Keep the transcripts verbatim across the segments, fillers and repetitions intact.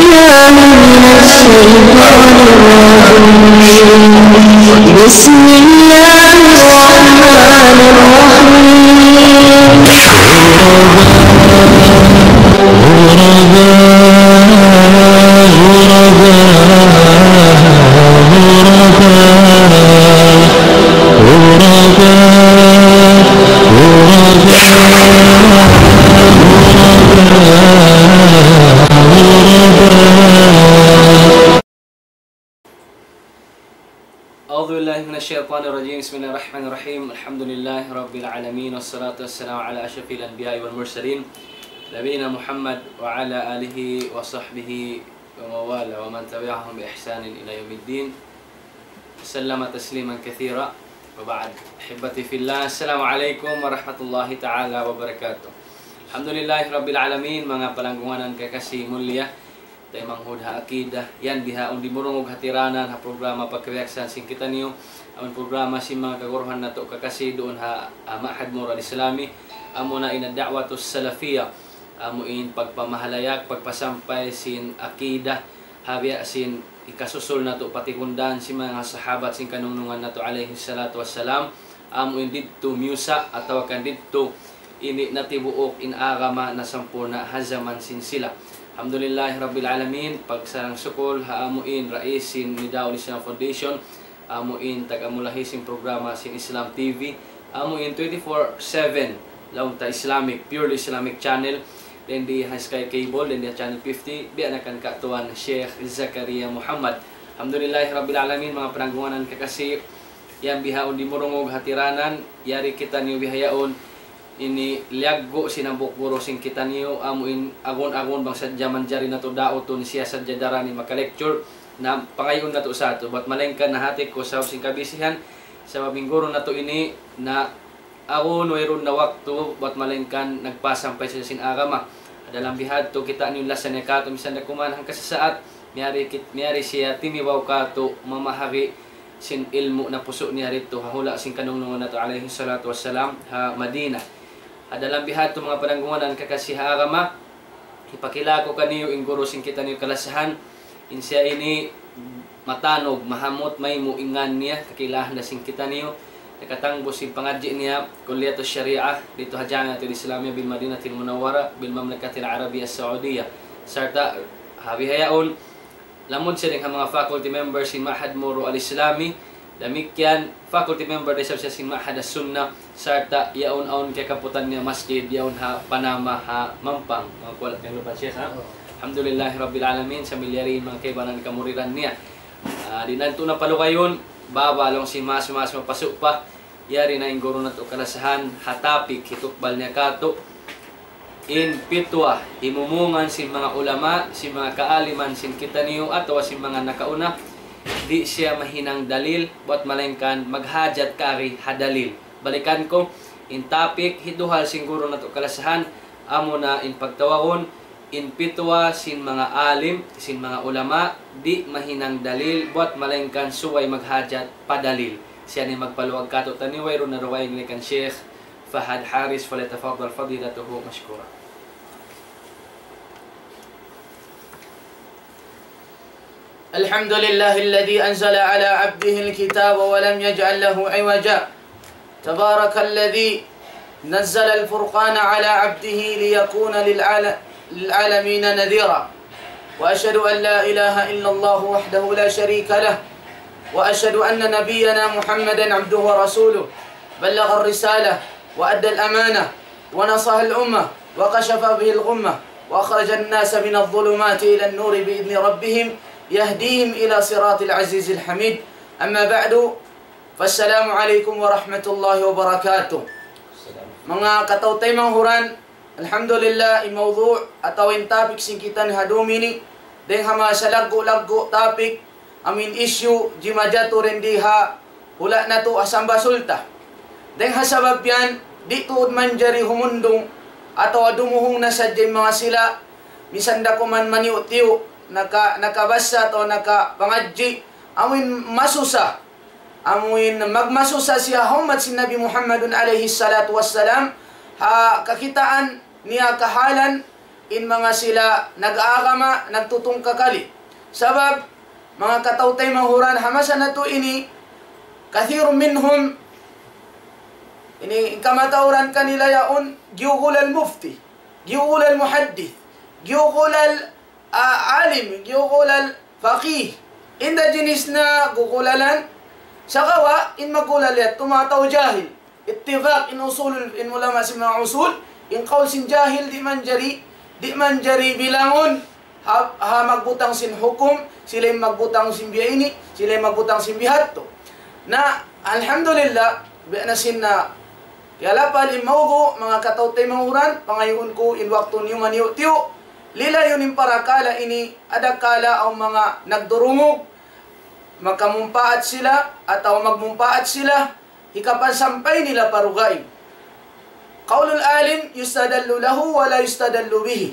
بالله من الشيطان الرجيم. بسم الله الرحمن الرحيم. أعوذ بالله من الشيطان الرجيم. بسم الله الرحمن الرحيم. الحمد لله رب العالمين، والصلاة والسلام على أشرف الأنبياء والمرسلين، نبينا محمد وعلى آله وصحبه ومن والاه ومن تبعهم بإحسان إلى يوم الدين، وسلم تسليما كثيرا. وبعد، أحبتي في الله، السلام عليكم ورحمة الله تعالى وبركاته. الحمد لله رب العالمين. Manga palanggungan kekasih mulia, taymanghud ha akida, yan bihaun dimurungug hatiranan ha programa pagkabiyaksahan sin kitaniyu, amun programa sin manga kaguruhan natu' kakasi duun ha, ha Ma'had Moro Al-Islami, amuna in ad-da'watus salafiyah, amu in pagpamahalayak, pagpasampay sin akida, ha biya' sin hikasusul natu' pa tipundan sin manga sahabat sin kanungnungan natu' alayhi salatu wassalam, amu in didtu miyusa' atawa kan didtu ini natibuuk in agama nasampurna' ha jaman sin sila. Alhamdulillahi Rabbil Alamin, pagsarang-sukul ha amu in rais sin Nidaul Islam Foundation, amu in tag-amulahi sin programa sin Islam T V, amu in twenty-four seven, laung ta Islamic, purely Islamic channel, dayn di ha Sky Cable, dayn di ha Channel fifty, biya' na kan Ka Tuan Sheikh Zakaria Muhammad. Alhamdulillahi Rabbil Alamin, manga pananggungan kakasi, yan bihaun dimurungug hatiranan, yari kitaniyu bihaun, ini liyaggu' sin hambuuk guru sin kitaniyu, amu in agun-agun bang sadja manjari natu' dautun siya sadja daran in maka-lecture, na pangayuun natu' sa yadtu, bat malayngkan nahati ku sabab sin kabisihan, sabab in guru natu' ini na agun wayruun na waktu, bat malayngkan nagpasampay sadja sin agama. Dalam bihadtu kitaniyu lasa niya katu' misan da kuman hangkasasaat, miyari kit-, miyari siya timibaw katu' mamahagi sin ilmu' napusu' niya didtu ha hula' sin kanungnungan natu' alayhi salatu wassalam ha Madinah. Ha dalam bihadtu manga pananggungan kakasi ha agama, hipakila ku kaniyu in guru sin kitaniyu kalasahan, in siya ini matanug, mahamut, maymu' in ngan niya, kakilahan da sin kitaniyu, nakatangbus sin pangadji' niya, Kulliyatus Shariah, didtu ha Jamiatul Islamiyah bil Madinatil Munawwarah, bil Mamlakatil Arabiyyah Saudiyah. Sarta' ha bihaun, lamud siya dayn ha manga faculty member sin Ma'had Moro Al-Islami, damikkiyan faculty member da isab siya sin Ma'had As-Sunnah, sarta' yaun awn kiyakaputan niya masjid, yaun ha Panama, ha Mampang. Manga kuwala' kiyanglupan siya, ha? Oo. Alhamdulillahi Rabbil Alamin, sambil yari in manga kaibanan kamuridan niya. Ah, di' natu' na palugayun, baba laung sin mas-mas mapasu' pa, yari na in guru natu' kalasahan, ha topic hitukbal niya katu', in pitwa, himumungan sin manga ulama, sin manga kaaliman sin kitaniyu, atawa sin manga nakauna, di' siya mahinang dalil, bat malayngkan maghajat kari ha dalil. Balikan ku, in topic hiduhal sin guru natu' kalasahan, amuna in pagtawagun, in pitwa sin manga alim, sin manga ulama, di' mahinang dalil, bat malayngkan subay maghajat pa dalil. Siya in magpaluag katu'taniyu, wayruun na dugaing, kan Sheikh Fahad Haris, فليتفضل فضيلته مشكورا. الحمد لله الذي أنزل على عبده الكتاب ولم يجعل له عوجا. تبارك الذي نزل الفرقان على عبده ليكون للعال-، للعالمين نذيرا. وأشهد أن لا إله إلا الله وحده لا شريك له. وأشهد أن نبينا محمدا عبده ورسوله. بلغ الرسالة وأدى الأمانة ونصح الأمة وكشف به الغمة وأخرج الناس من الظلمات إلى النور بإذن ربهم يهديهم إلى صراط العزيز الحميد. أما بعد، فالسلام عليكم ورحمة الله وبركاته. Manga kataw-taymanghuran, alhamdulillah, in mawdu' atawa in topic sin kitaniyu ha dum ini, dayn ha manga salaggu'-laggu' topic, amu in issue, jimajatu dayn di ha hula' natu' ha Samba Sulta. Dayn ha sabab yan, di' tuud manjari humundung atawa dumuhung na sadja in manga sila, misan da kuman maniyu'-tiyu', naka-, nakabassa atawa nakapangadji', amu in masusa, amu in magmasusa siya ha ummat sin Nabi Muhammadun alayhi salatu wassalam, ha kakitaan niya kahalan, in manga sila nag-aagama, nagtutungkakali. Sabab, manga kataw-taymanghuran, ha masa natu' ini, كثير منهم, ini in kamatauran kanila yaun, giyugulal mufti, giyugulal muhaddith, giyugulal, ah, alim, giyugulal faqih. Inda jinis na gugulalan, sagawa' in magulal yadtu manga tau jahil. Ittifaq in usul, in ulama sin manga usul, in qawl sin jahil di' manjari, di' manjari bilangun ha, ha magbutang sin hukum, sila in magbutang sin biya' ini, sila in magbutang sin biya' hadtu. Na, alhamdulillah, biya' na sin na, kiyalapal in mawdu', manga kataw-taymanghuran, pangayuun ku in waktu niyu maniyu'-tiyu', lilayun in parakala' ini, adakala awn manga nagdurungug, makamumpaat sila, atawa magmumpaat sila, hikapansampay nila pa dugaing. قول العالم يستدل له ولا يستدل به.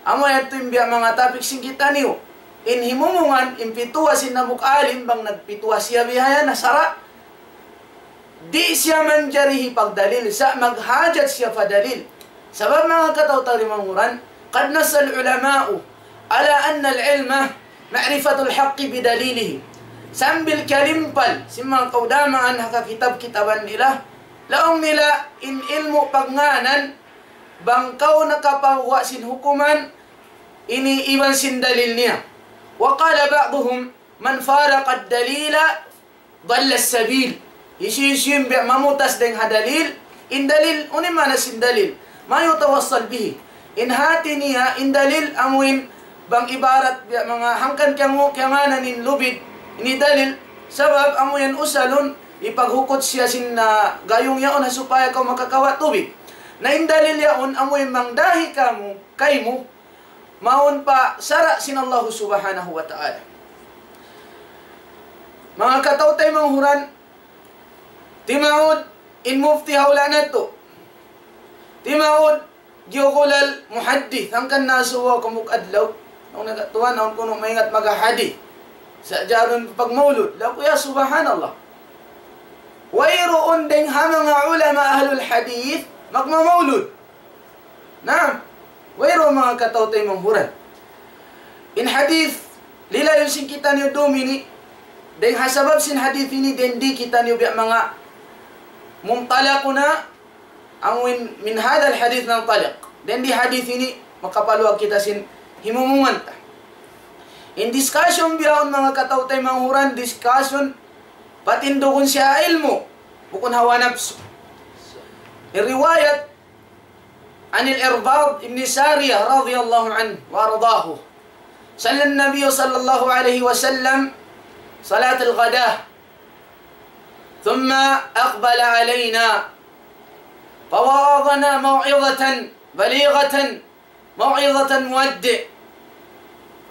Amu yadtu in biya' manga topic sin kitaniyu. In himumungan, in pituwa sin hambuuk alim, bang nagpituwa siya bihayan, na sara'. Di' siya manjari hipagdalil, sa' maghajat siya pa dalil. Sabab manga kataw-taymanghuran, قد نص العلماء على أن العلم معرفة الحق بدليله. Sambil kiyalimpal sin manga kaudamaan ha kakitab-kitaban nila, laung nila in ilmu' pagngānan, bang kaw nakapaguwa' sin hukuman, ini iban sin dalil niya. وقال بعضهم من فارق الدليل ضل السبيل. Hisiyu-siyu in biya' mamutas dayn ha dalil, in dalil, unu in maana sin dalil? ما يتوصل به. In hāti niya, in dalil, amuin bang ibarat biya' manga hangkan kiyangu-, kiyangānan in lubid, ini dalil, sabab amuin usalun, ipaghukut siya sin, ah, gayung yaun ha supaya kaw makakawa' tubig. Na in dalil yaun, amuin mangdahi kamu, kaymu, mawn pa sara' sin Allahu Subhanahu wa Ta'ala. Manga kataw-taymanghuran, timaud in mufti ha hula' natu'. Timaud giyugulal muhaddith, hangkan nasubu aku hambuuk adlaw. Awn nagkatuwan, awn kunu' maingat maghahadith. Sa' jarun pagmaulud. Laung ku, ya subhanallah. Wayruun dayn ha manga ulama ahlul hadith, magmamaulud. Naam, wayruun manga kataw-taymanghuran. In hadith, lilayun sin kitaniyu dum ini, dayn ha sabab sin hadith ini, dayn di kitaniyu biya' manga muntalaquna, amuin من هذا الحديث ننطلق. Dayn di hadith ini, makapaluag kita sin himumungan ta. In discussion bihaun manga kataw-taymanghuran, discussion, patindugun siya ilmu', bukun hawa napsu. In riwayat, عن العرباض بن سارية رضي الله عنه وأرضاه، صلى النبي صلى الله عليه وسلم صلاة الغداة، ثم أقبل علينا فوعظنا موعظة بليغة، موعظة مودع.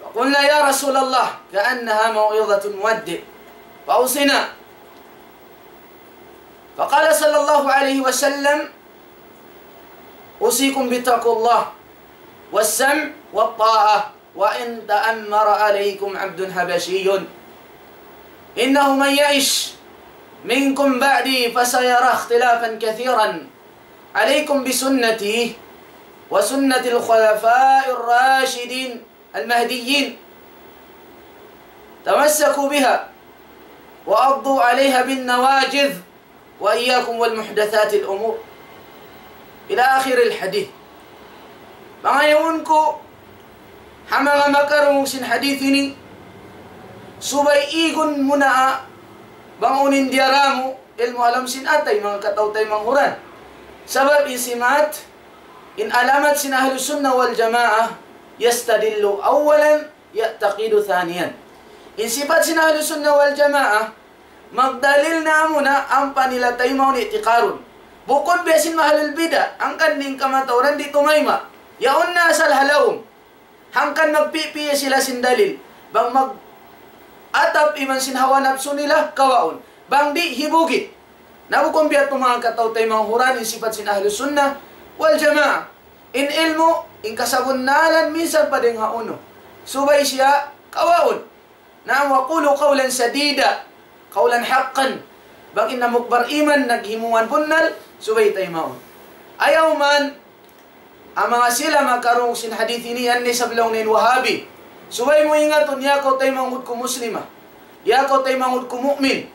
فقلنا: يا رسول الله، كأنها موعظة مودع، فأوصنا. فقال صلى الله عليه وسلم: أوصيكم بتقوى الله والسمع والطاعة وإن تأمر عليكم عبد حبشي، إنه من يعش منكم بعدي فسيرى اختلافا كثيرا، عليكم بسنتي وسنة الخلفاء الراشدين المهديين، تمسكوا بها وعضوا عليها بالنواجذ، وإياكم والمحدثات الأمور، إلى آخر الحديث. Pangayuun ku, ha manga makarungug sin hadith ini, subay igun mu na bang unu in diyara mu, ilmu' ha lawm sin atay, manga kataw-taymanghuran. Sabab in simat, in alamat sin Ahlus Sunnah wal Jamaah, يستدل أولا يعتقد ثانيا. In sipat sin Ahlus Sunnah wal Jamaah, magdalil na amuna ampa nila taymaun, i'tiqarun. Bukun biya' sin ahlul bid'ah, hangkan in kamatauran di' tumayma'. Yaun na asal ha lawm. Hangkan magpipiya sila sin dalil. Bang mag-atap iban sin hawa napsu nila, kawaun. Bang di', hibugit. Na bukun biya' tu manga kataw-taymanghuran in sipat sin Ahlus Sunnah wal Jamaah. In ilmu', in kasabunnalan minsan pa dayn ha unu. Subay siya kawaun. Naam, وقولوا قولا سديدا، قولا حقا. Bang in hambuuk bariman naghimumungan bunnal, subay taymaun. Ayaw man Amu manga sila makarungug sin hadith ini, yan na isab laung niya in Wahabi. Subay mu ingatun, ya kaw taymanghud ku Muslima, ya kaw taymanghud ku mu'min.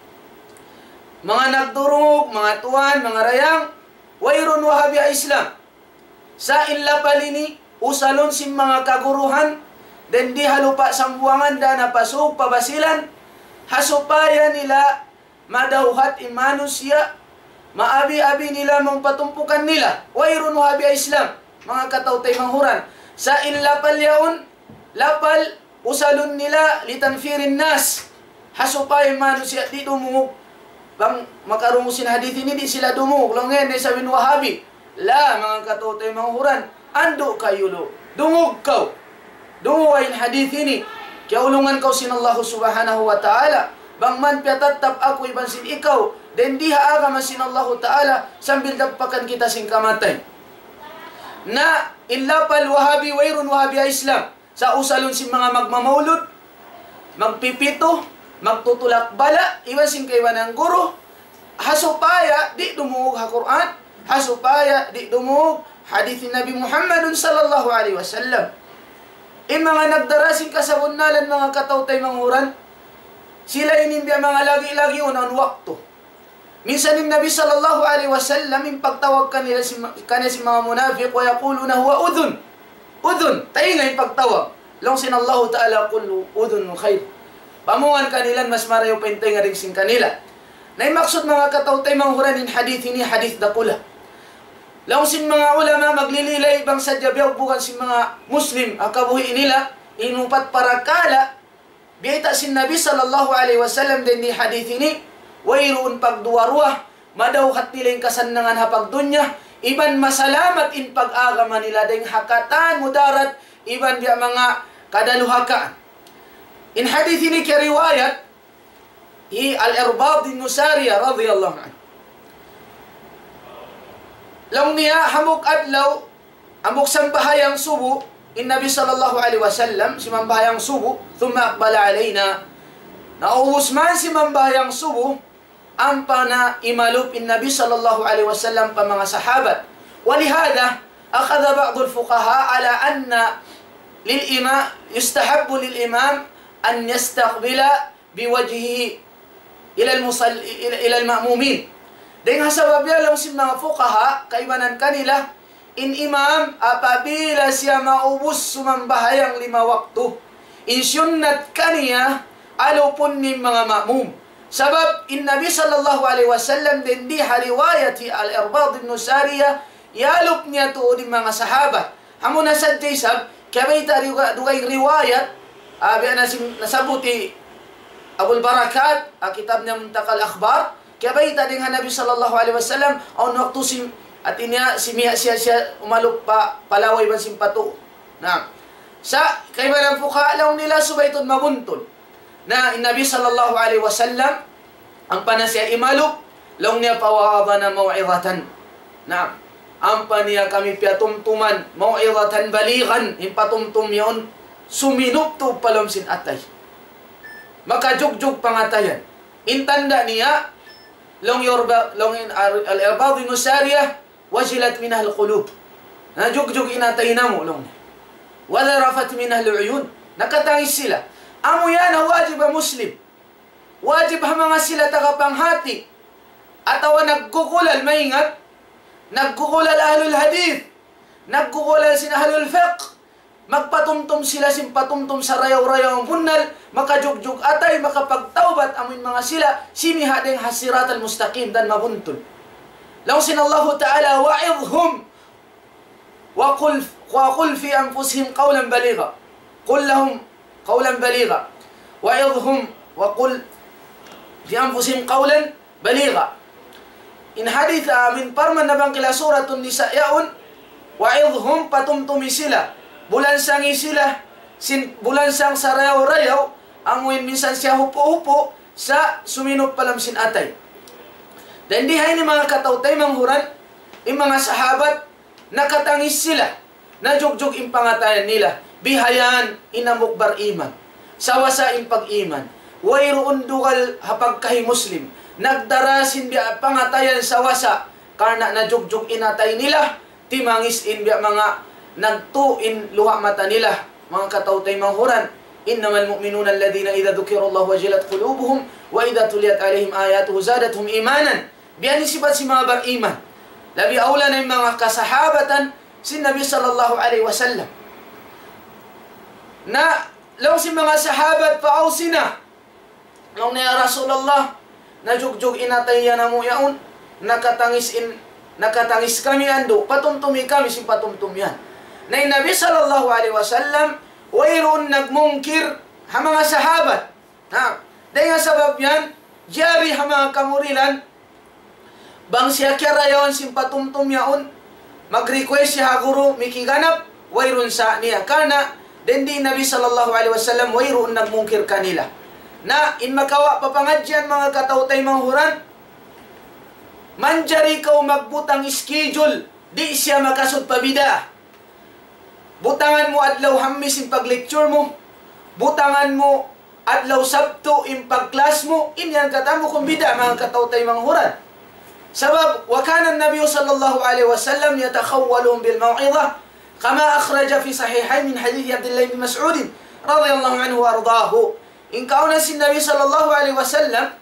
Manga nagdurungug, manga tuwan, manga dayang, wayruun Wahabi ha Islam. Sa' in lapal ini, usalun sin manga kaguruhan, dayn di ha lupa' Sambuwangan, dayn ha Pasug, pa Basilan, ha supaya nila madawhat in manusiya', maabi-abi nila, mawn patumpukan nila. Wayruun Wahabi ha Islam, manga kataw-taymanghuran. Sa' in lapal yaun, lapal usalun nila لتنفير الناس. Ha supaya in manusiya' di' dumungug. Bang makarungug sin hadith ini, di' sila dumungug. Laung niya, yan na isab in Wahabi. La, manga kataw-taymanghuran, andu' kaw lu. Dungug kaw. Dunguga in hadith ini. Kiyaulungan kaw sin Allahu Subhanahu wa Ta'ala. Bang man piyatattap aku iban sin ikaw dayn di ha agama sin Allahu Ta'ala, sambil dagpakan kita sin kamatay. Na in lapal Wahabi, wayruun Wahabi ha Islam. Sa' usalun sin manga magmamaulud, magpipitu, magtutulak bala', iban sin kaibanan guru, ha supaya di' dumungug ha Qur'an, ha supaya di' dumungug hadith Nabi Muhammadun sallallahu alayhi wasallam. In manga nagdara sin kasabunnalan, manga kataw-taymanghuran, sila ini in biya' manga lagi'-lagiun awn waktu. Minsan in Nabi sallallahu alayhi wasallam, in pagtawag kanila sin ma-, kaniya sin manga munafiq, ويقولون هو أذن. Udhun, taynga in pagtawag. Laung sin Allahu Ta'ala, قل أذن خير. Pamungan kanila, mas marayaw pa in taynga dayn sin kanila. Na in maksud, manga kataw-taymanghuran, in hadith ini hadith dakula'. Laung sin manga ulama, maglililay bang sadja biya' bukan sin manga Muslim, ha kabuhi' nila, in upat parakala', biyayta' sin Nabi sallallahu alayhi wasallam dayn di hadith ini, wayruun pagduwa-ruwa, madawhat nila in kasannangan ha pagdunya, iban masalamat in pag-agama nila dayn ha katan mudarat, iban biya' manga kadaluhakaan. In hadith ini kiyariwayat hi Al-Irbad bin Sariyah radiyallahu anhu. Laung niya, hambuuk adlaw, hambuuk sambahayang subu, in Nabi sallallahu alayhi wasallam, simambahayang subu, ثم أقبل علينا. Naubus man simambahayang subu, ampa na imalup in Nabi sallallahu alayhi wasallam pa manga sahabat. ولهذا أخذ بعض الفقهاء على أن للإمام، يستحب للإمام أن يستقبل بوجهه إلى المصل-، إلى، إلى المأمومين. Dayn ha sabab yan, laung sin manga fuqaha, kaibanan kanila, in imam, apabila siya maubus sumambahayang lima waktu, in sunnat kaniya, alupun niya in manga ma'mum. Sabab in Nabi sallallahu alayhi wasallam, dayn di ha riwayat hi Al-Irbad bin Sariyah, iyalup niya tuud in manga sahabat. Amuna sadja isab, kiyabayta' duga-, dugaing riwayat, ah, biya' na sin-, nasabbut hi Abul Barakat, ah, kitab niya Muntaqa Al-Akhbar, kiyabayta' dayn ha Nabi sallallahu alayhi wasallam, awn waktu sin-, hati niya, simiya' siya, siya umalup pa, pa lawa iban sin patu. Na, sa' kaibanan fuqaha, laung nila subay tuud mabuntul. Na, in Nabi sallallahu alayhi wasallam, ampa na siya imalup, laung niya, فوعظنا موعظة. Na, ampa niya kami piyatumtuman, موعظة بليغة, in patumtum yaun, suminup tuud pa lawm sin atay. Makajugjug pangatayan. In tanda' niya, laung Yorba-, laung in Al-, Al-Irbad bin Sariyah, وجلت منها القلوب. Najugjug in atay namu', laung niya. وذرفت منها العيون. Nakatangis sila. Amu yan in wajib ha Muslim. Wajib ha manga sila tagapanghati. Atawa nagkukulal maingat. Nagkukulal ahlul hadith. Nagkukulal sin ahlul fiqh. Magpatumtum sila sin patumtum sarayaw-rayaw bunnal, makajugjug atay, makapagtawbat amuin manga sila, simiha' dayn ha siratal mustaqim, dan mabuntul. Laung sin Allahu Ta'ala, وعظهم وقل، وقل في أنفسهم قولا بليغا. قل لهم قولا بليغا. وعظهم وقل في أنفسهم قولا بليغا. In hadith, ah, amuin parman na bang kila Suratun Nisa yaun, وعظهم, patumtumi sila, bulansangi sila, sin, bulansang sarayaw-rayaw, amuin minsan siya hupu'-hupu', sa' suminup pa lawm sin atay. Dan di ha ini manga kataw-taymanghuran, in manga sahabat, nakatangis sila, najugjug in pangatayan nila, bihayan in hambuuk bariman. Sawasa in pag-iman. Wayruun dugal ha pagkahi Muslim. Nagdara sin biya' pangatayan sawasa, karna' najugjug in atay nila, timangis in biya' manga nagtu' in luha' mata nila, manga kataw-taymanghuran. إنما المؤمنون الذين إذا ذكر الله وجلت قلوبهم وإذا تليت عليهم آياته زادتهم إيمانا. Biya' ini sipat sin manga bariman. Labi awla na in manga kasahabatan sin Nabi sallallahu alayhi wasallam. Na, laung sin manga sahabat, فأوصنا. Laung niya, "Ya Rasulullah, najugjug in atay yan namu' yaun, nakatangis in, nakatangis kami andu', patumtumi kami sin patumtum yan." Na in Nabi sallallahu alayhi wasallam, wayruun nagmungkir ha manga sahabat. Na, dayn ha sabab yan, jari ha manga kamurilan, bang siya kiyarayawan sin patumtum yaun, mag-request siya ha guru, mikiganap, wayruun sa niya. Karna', dayn di Nabi sallallahu alayhi wasallam, wayruun nagmungkir kanila. Na, in makawa' pa pangadjian manga kataw-taymanghuran, manjari kaw magbutang schedule, di' siya makasud pa bid'ah. Butangan mu adlaw Hammis in pag-lecture mu. Butangan mu adlaw Sabtu in pag-class mu. In yan katan bukun bid'ah, manga kataw-taymanghuran. Sabab, وكان النبي صلى الله عليه وسلم يتخولهم بالموعظة كما أخرج في صحيحين من حديث عبد الله بن مسعود رضي الله عنه وأرضاه. In kaawnan sin Nabi sallallahu alayhi wasallam,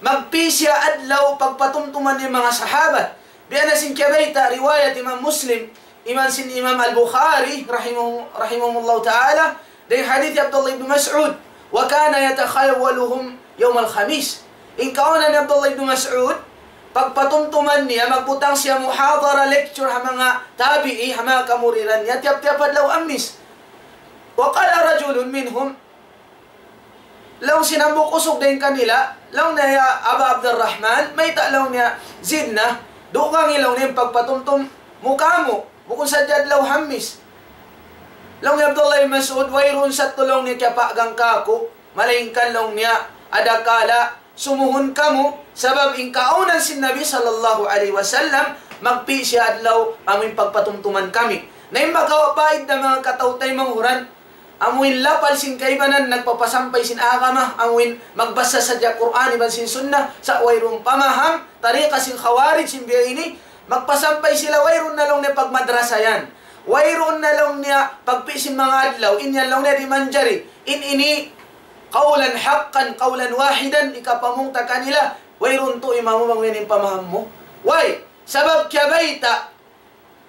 magpi' siya adlaw pagpatumtuman niya manga sahabat. Biya' na sin kiyabayta' riwayat Imam Muslim, iban sin Imam Al-Bukhari, rahimahu-, rahimahumullahu ta'ala, dayn hadith Abdullah ibn Mas'ud, وكان يتخولهم يوم الخميس. In kaawnan ni Abdullah ibn Mas'ud, pagpatumtuman niya, magbutang siya muhadara lecture ha manga tabi'i, ha manga kamuriran niya, tiyap-tiyap adlaw Hammis. وقال رجل منهم, laung sin hambuuk usug dayn kanila, laung niya, "Ya Aba Abdurrahman, mayta'," laung niya, "zidna, dugangi," laung niya, "in pagpatumtum mu kāmu', bukun sadja adlaw Hammis." Laung hi Abdullah bin Mas'ud, "Wayruun sa tuud," laung niya, "kiyapagang kāku', malaingkan," laung niya, "adakala sumuhun kamu, sabab in kaawnan sin Nabi sallallahu alayhi wasallam, magpi' siya adlaw amu in pagpatumtuman kami." Na in makawa' paidda, manga kataw-taymanghuran, amu in lapal sin kaibanan nagpapasampay sin agama, amu in magbasa sadja Qur'an iban sin Sunnah, sa' wayruun pamaham, tariqa sin Khawarij sin biya' ini, magpasampay sila, wayruun na laung niya pagmadrasa yan. Wayruun na laung niya pagpi' sin manga adlaw, in yan laung niya di' manjari. In ini, قولا حقا قولا واحدا, hikapamung ta kanila, wayruun tuud imamu bang yan in pamaham mu. Way, sabab kiyabayta',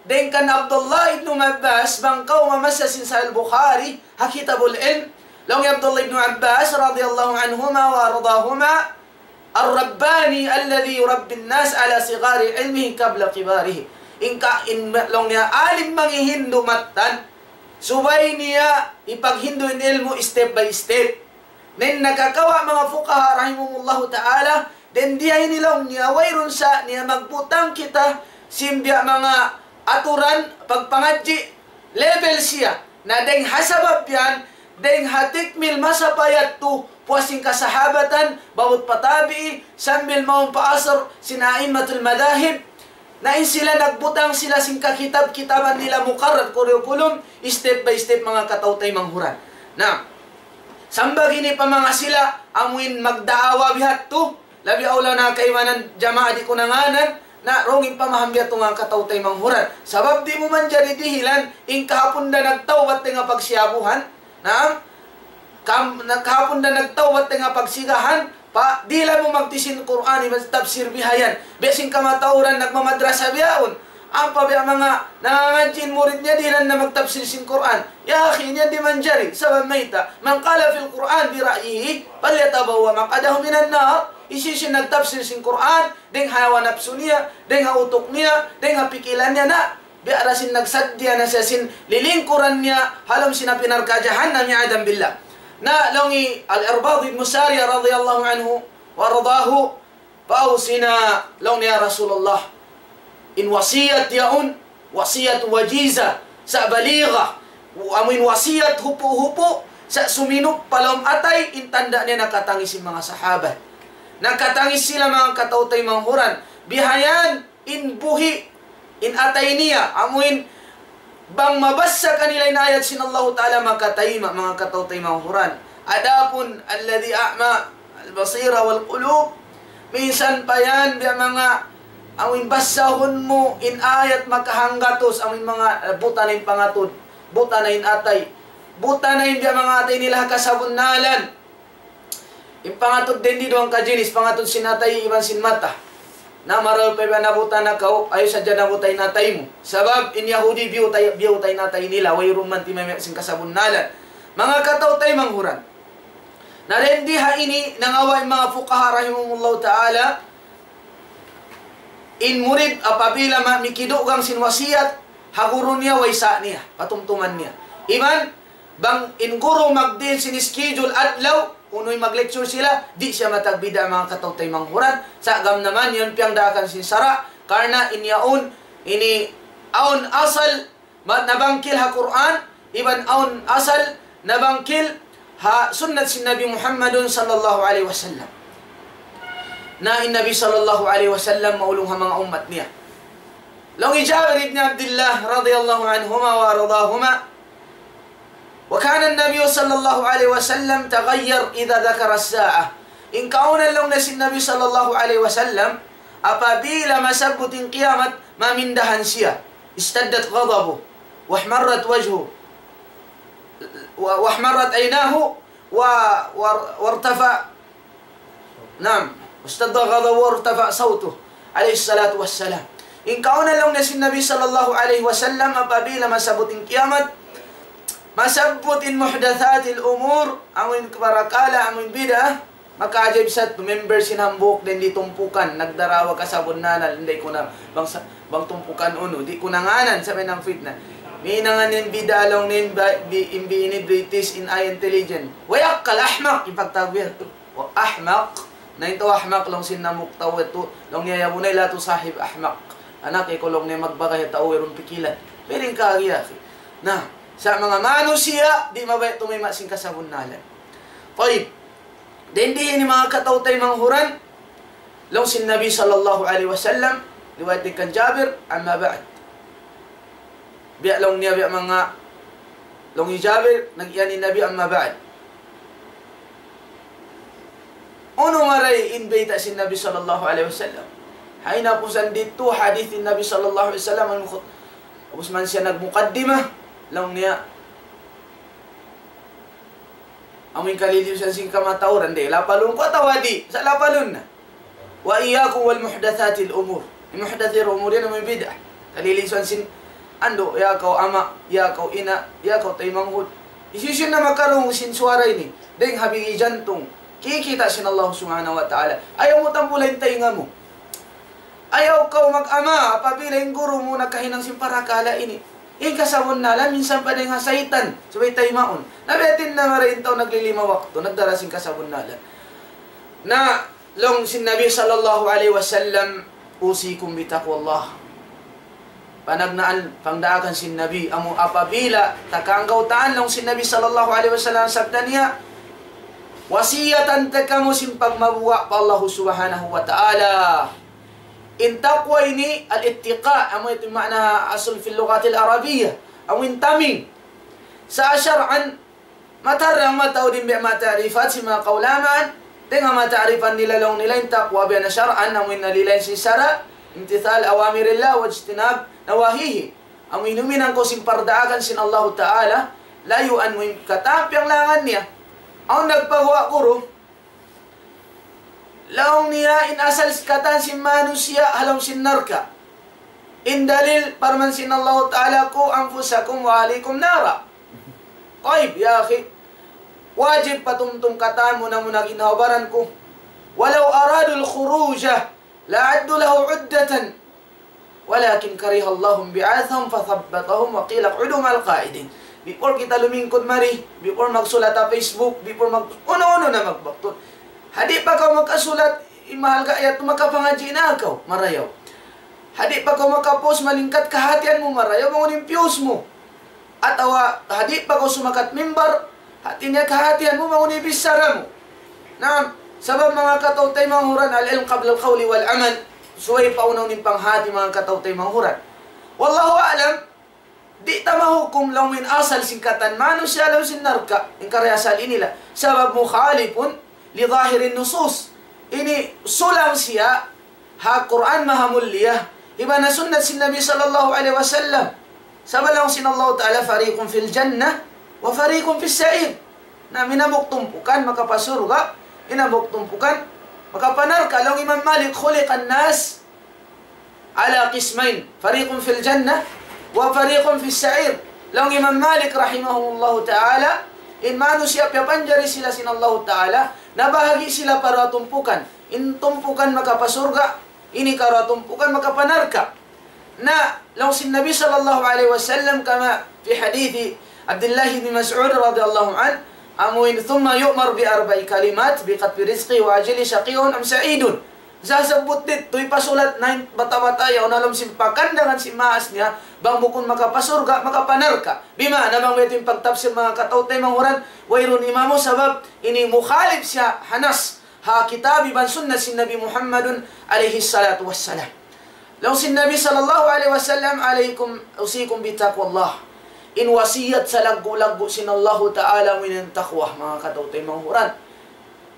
dayn kan Abdullah ibn Abbas, bang kaw mamassa sin Sahih Bukhari, ha Kitabul Ilm, laung hi Abdullah ibn Abbas radiyallahu anhuma wa ardahuma, الرباني الذي يربي الناس على صغار علمه قبل كباره. In ka-, in laung niya alim mangi' hindu' mattan, subay niya ipaghindu' in ilmu' step by step. Na in nakakawa' manga fuqaha rahimahumullahu ta'ala, dayn di ha ini laung niya, wayruun sa niya magbutang kita sin biya' manga aturan pagpangadji', level siya. Na dayn ha sabab yan, dayn ha tikmil masa pa yadtu, puas sin kasahabatan, baut pa tabi'i, sambil mawn pa asr sin a'immatul madhahib, na in sila nagbutang sila sin kakitab-kitaban nila muqarrar curriculum, step by step, manga kataw-taymanghuran. Na, sambag ini pa manga sila, amuin magdaawa biha' tu, labi awla na kaibanan jamaa di' ku na ngānan, na wrong in pamaham biya' tu manga kataw-taymanghuran. Sabab di' mu manjari dihilan, in kahapun da nagtawbat dayn ha pagsiyabuhan, naam, kam-, na-, kahapun da nagtawbat dayn ha pagsigahan, pa, dihilan mu magtisin Qur'an, iban tafsir bihayan. Biya' sin kamatauran nagmamadrasa bihaun. Ampa biya' manga nangangadji' in murid niya, dihilan na magtafsir sin Qur'an. Ya akhi, in yan di' manjari. Sabab mayta', من قال في القرآن برأيه فليتبوأ مقعده من النار. Hisiyu-siyu in nagtafsir sin Qur'an, dayn ha hawa napsu niya, dayn ha utuk niya, dayn ha pikilan niya, na, biya' da sin nagsaddiya na siya sin lilingkuran niya, ha lawm sin api narka' jahannam, iyadhan billah. Na, laung hi Al-Irbad ibn Sariyah radiyallahu anhu wa radahu, فأوصنا, laung niya, ya Rasulullah, in wasiyat yaun, wasiyat wajiza, sa' baligha, amuin wasiyat hupu'-hupu', sa' suminup pa lawm atay, in tanda' niya nakatangis in manga sahabat. Nakatangis sila manga kataw-taymanghuran. Bihayan, in buhi', in atay niya, amuin bang mabassa kanila in ayat sin Allahu Ta'ala makatayma', manga kataw-taymanghuran. Adapun الذي أعمى البصيرة والقلوب, minsan pa yan biya' manga Amu in basahun mu in ayat makahanggatus, amu in manga, eh, buta na in pangatud, buta na in atay, buta na in biya' manga atay nila ha kasabunnalan. In pangatud dayn di duwang kajinis, pangatud sin atay iban sin mata. Na marayaw pa iban nabuta na kaw, ayaw sadja nabuta in atay mu. Sabab in Yahudi biyuta, biyuta in atay nila, wayruun man timamiyat sin kasabunnalan. Manga kataw-taymanghuran. Na dayn di ha ini, nangawa' in manga fuqaha rahimahumullahu ta'ala, in murid apabila ma-, mikidugang sin wasiyat ha guru niya, way sa niya, patumtuman niya. Iban, bang in guru magdiin sin schedule adlaw, unu in mag-lecture sila, di' siya matagbida' manga kataw-taymanghuran, sa' gam naman yan piyagdaakan sin sara', karna' in yaun, ini awn asal, ma-, nabangkil ha Qur'an, iban awn asal nabangkil ha sunnat sin Nabi Muhammadun sallallahu alayhi wasallam. Na in Nabi sallallahu alayhi wasallam maulung ha manga ummat niya. Laung hi Jabir ibn Abdullah radiyallahu anhuma wa radahuma, وكان النبي صلى الله عليه وسلم تغير إذا ذكر الساعة. In kauna laung niya sin Nabi sallallahu alayhi wasallam, apabila masabbut in kiyamat, mamindahan siya. اشتد غضبه واحمرت وجهه و-، واحمرت عيناه و-، وار-، وارتفع، نعم، اشتد غضبه وارتفع صوته عليه الصلاة والسلام. In kauna laung niya sin Nabi sallallahu alayhi wasallam apabila masabbut in kiyamat, masabbut in muhdathatil umur, amu in parakala', amu in bid'ah, makaajaib sa tu, member sin hambuuk dayn di tumpukan, nagdarawa kasabunnalan, di' ku na, bang sa-, bang tumpukan unu, di' ku na ngānan, sabab in fitna. Minangan in bid'ah laung niya in ba-, bi-, in bi-, ini British, in ay intelligent. Way akkal, ahmak, in pagtawag yan. O, ahmak. Na in tau ahmak laung sin hambuuk tau yadtu, laung niya, يا بني لا تصاحب أحمق. Anak, ikaw laung niya magbagay ha tau wayruun pikilan. Piring ka, akhi. Na, sa' manga manusiya', di' mabaya' tumayma' sin kasabunnalan. Tayyib. Dayn di ini manga kataw-taymanghuran, laung sin Nabi sallallahu alayhi wasallam, riwayat dayn kan Jabir, أما بعد. Biya' laung niya, biya' manga, laung hi Jabir, nag-iyan in Nabi, أما بعد. Unu marayaw in bayta' sin Nabi sallallahu alayhi wasallam? Ha hinapusan didtu hadith in Nabi sallallahu alayhi wasallam, amu in khut-, ubus man siya nagmukaddimah, laung niya, amu in kalilisan sin kamatauran, di', lapalun ku atawa di', sa' lapalun na. وإياكم ومحدثات الأمور. In muhdathatil umur yan, amu in bid'ah. Kalilisan sin andu', ya kaw ama', ya kaw ina', ya kaw taymanghud. Hisiyu-siyu na makarungug sin suwara ini, dayng ha bigi jantung, kikita' sin Allah Subhanahu wa Ta'ala. Ayaw mu tambula in taynga mu. Ayaw kaw mag-ama apabila in guru mu nakahinang sin parakala' ini. In kasabunnalan, minsan pa dayng ha saytan, subay taymaun. Na biya' diin na marayaw in tau naglilima waktu, nagdara sin kasabunnalan. Na, laung sin Nabi sallallahu alayhi wasallam, أوصيكم بتقوى الله. Panagnaan, pangdaakan sin Nabi, amu apabila, ta kaanggawtaan laung sin Nabi sallallahu alayhi wasallam, sabda niya, wasiyatan ta kamu sin pagmabuga' pa Allah Subhanahu wa Ta'ala. In taqwa ini, al-ittiqa, amu yadtu in maana asul fil lughatil arabiyyah, amu in taming. Sa' shar'an, matarrang mataud in biya' manga ta'rifat sin manga kaulamaan, dayng ha manga ta'rifan nila laung nila in taqwa biya' na shar'an, amu in nalilain sin sara', امتثال أوامر الله واجتناب نواهيه. Amu in huminang kaw sin pardaakan sin Allahu Ta'ala, layuan mu in katan piyanglangan niya. Awn nagpaguwa' guru, laung niya in asal katan sin manusiya' ha lawm sin narka'. In dalil parman sin Allahu Ta'ala, قوا أنفسكم وأهليكم نارا. Tayyib, ya akhi. Wajib patumtum katan mu na muna ginhawa-baran ku. ولو أرادوا الخروج لأعدوا له عدة ولكن كره الله انبعاثهم فثبطهم وقيل اقعدوا مع القاعدين. Before kita lumingkud mari, before magsulat ha Facebook, before mag-, unu-unu na magbaktun. Ha di' pa kaw makasulat, in mahalga' yadtu makapangadji' na kaw, marayaw. Ha di' pa kaw makapost, malingkat kahatihan mu, marayaw, bang unu in views mu. Atawa, ha di' pa kaw sumakat mimbar, hati niya kahatihan mu, bang unu in bichara mu. Naam, sabab manga kataw-taymanghuran, العلم قبل القول والعمل. Subay paunahun in panghati manga kataw-taymanghuran. Wallahu a'lam, di' ta mahukum laung in asal sin katan manusiya' ha lawm sin narka', in kariasal ini la. Sabab مخالف لظاهر النصوص. Ini sulang siya ha Qur'an maha mulia, iban ha sunnat sin Nabi sallallahu alayhi wasallam. Sabab laung sin Allahu Ta'ala, فريق في الجنة وفريق في السعير. Na in hambuuk tumpukan makapasurga', in hambuuk tumpukan makapanarka'. Laung Imam Malik, خلق الناس على قسمين، فريق في الجنة وفريق في السعير. Laung Imam Malik rahimahullahu ta'ala, in manusiya' piyapanjari sila sin Allahu Ta'ala, nabahagi' sila pa duwa tumpukan. In tumpukan makapasurga', in hikaruwa tumpukan makapanarka'. Na, laung sin Nabi sallallahu alayhi wasallam, كما في حديث عبد الله بن مسعود رضي الله عنه, amuin, ثم يؤمر بأربع كلمات بكتب رزقه وأجله شقي أم سعيد. Sasabbut didtu, hipasulat na in bata'-bata' yaun ha lawm sin pakandangan sin maas niya, bang bukun makapasurga', makapanarka'. Bima'na bang biya' ha yan in pagtapsir manga kataw-taymanghuran, wayruun imamu sabab ini mukhalif siya ha nas, ha kitab iban sunnah sin Nabi Muhammadun alayhi salatu wassalam. Laung sin Nabi sallallahu alayhi wasallam, عليكم، أوصيكم بتقوى الله. In wasiyat salaggu'-laggu' sin Allahu Ta'ala amu in taqwa, manga kataw-taymanghuran.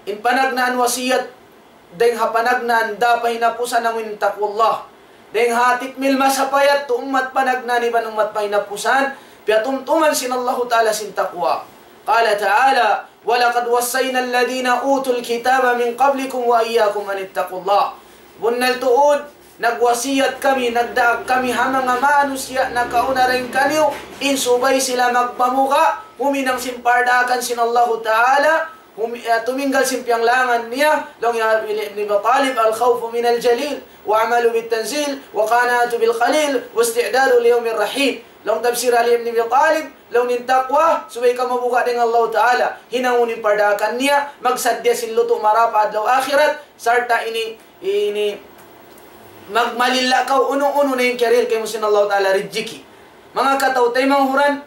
In panagnaan wasiyat, dayng ha panagnaan da pa hinapusan amu in taqwallah. Dayng ha tikmil masa pa yadtu ummat panagnaan iban ummat pa hinapusan, piyatumtuman sin Allahu Ta'ala sin taqwa. قال تعالى: ولقد وصينا الذين أوتوا الكتاب من قبلكم وإياكم أن اتقوا الله. Bunnal tuud, nagwasiyat kami, nagdaak kami ha manga manusiya' nakauna dayn kaniyu, in subay sila magpamuga', huminang sin pardaakan sin Allahu Ta'ala, hum-, eh, tuminggal sin piyanglangan niya, laung hi Ali ibn Abi Talib, الخوف من الجليل، والعمل بالتنزيل، والقناعة بالقليل، والاستعداد ليوم الرحيل. Laung tafsir Ali ibn Abi Talib, laung in taqwa, subay kaw mabuga' dayn ha Allahu Ta'ala, hinangun in pardaakan niya, magsaddiya sin lutu' mara pa adlaw akhirat, sarta' ini, ini, magmalilla kaw unu-unu na in kiyarihil kaymu sin Allahu Ta'ala rijiki. Manga kataw-taymanghuran,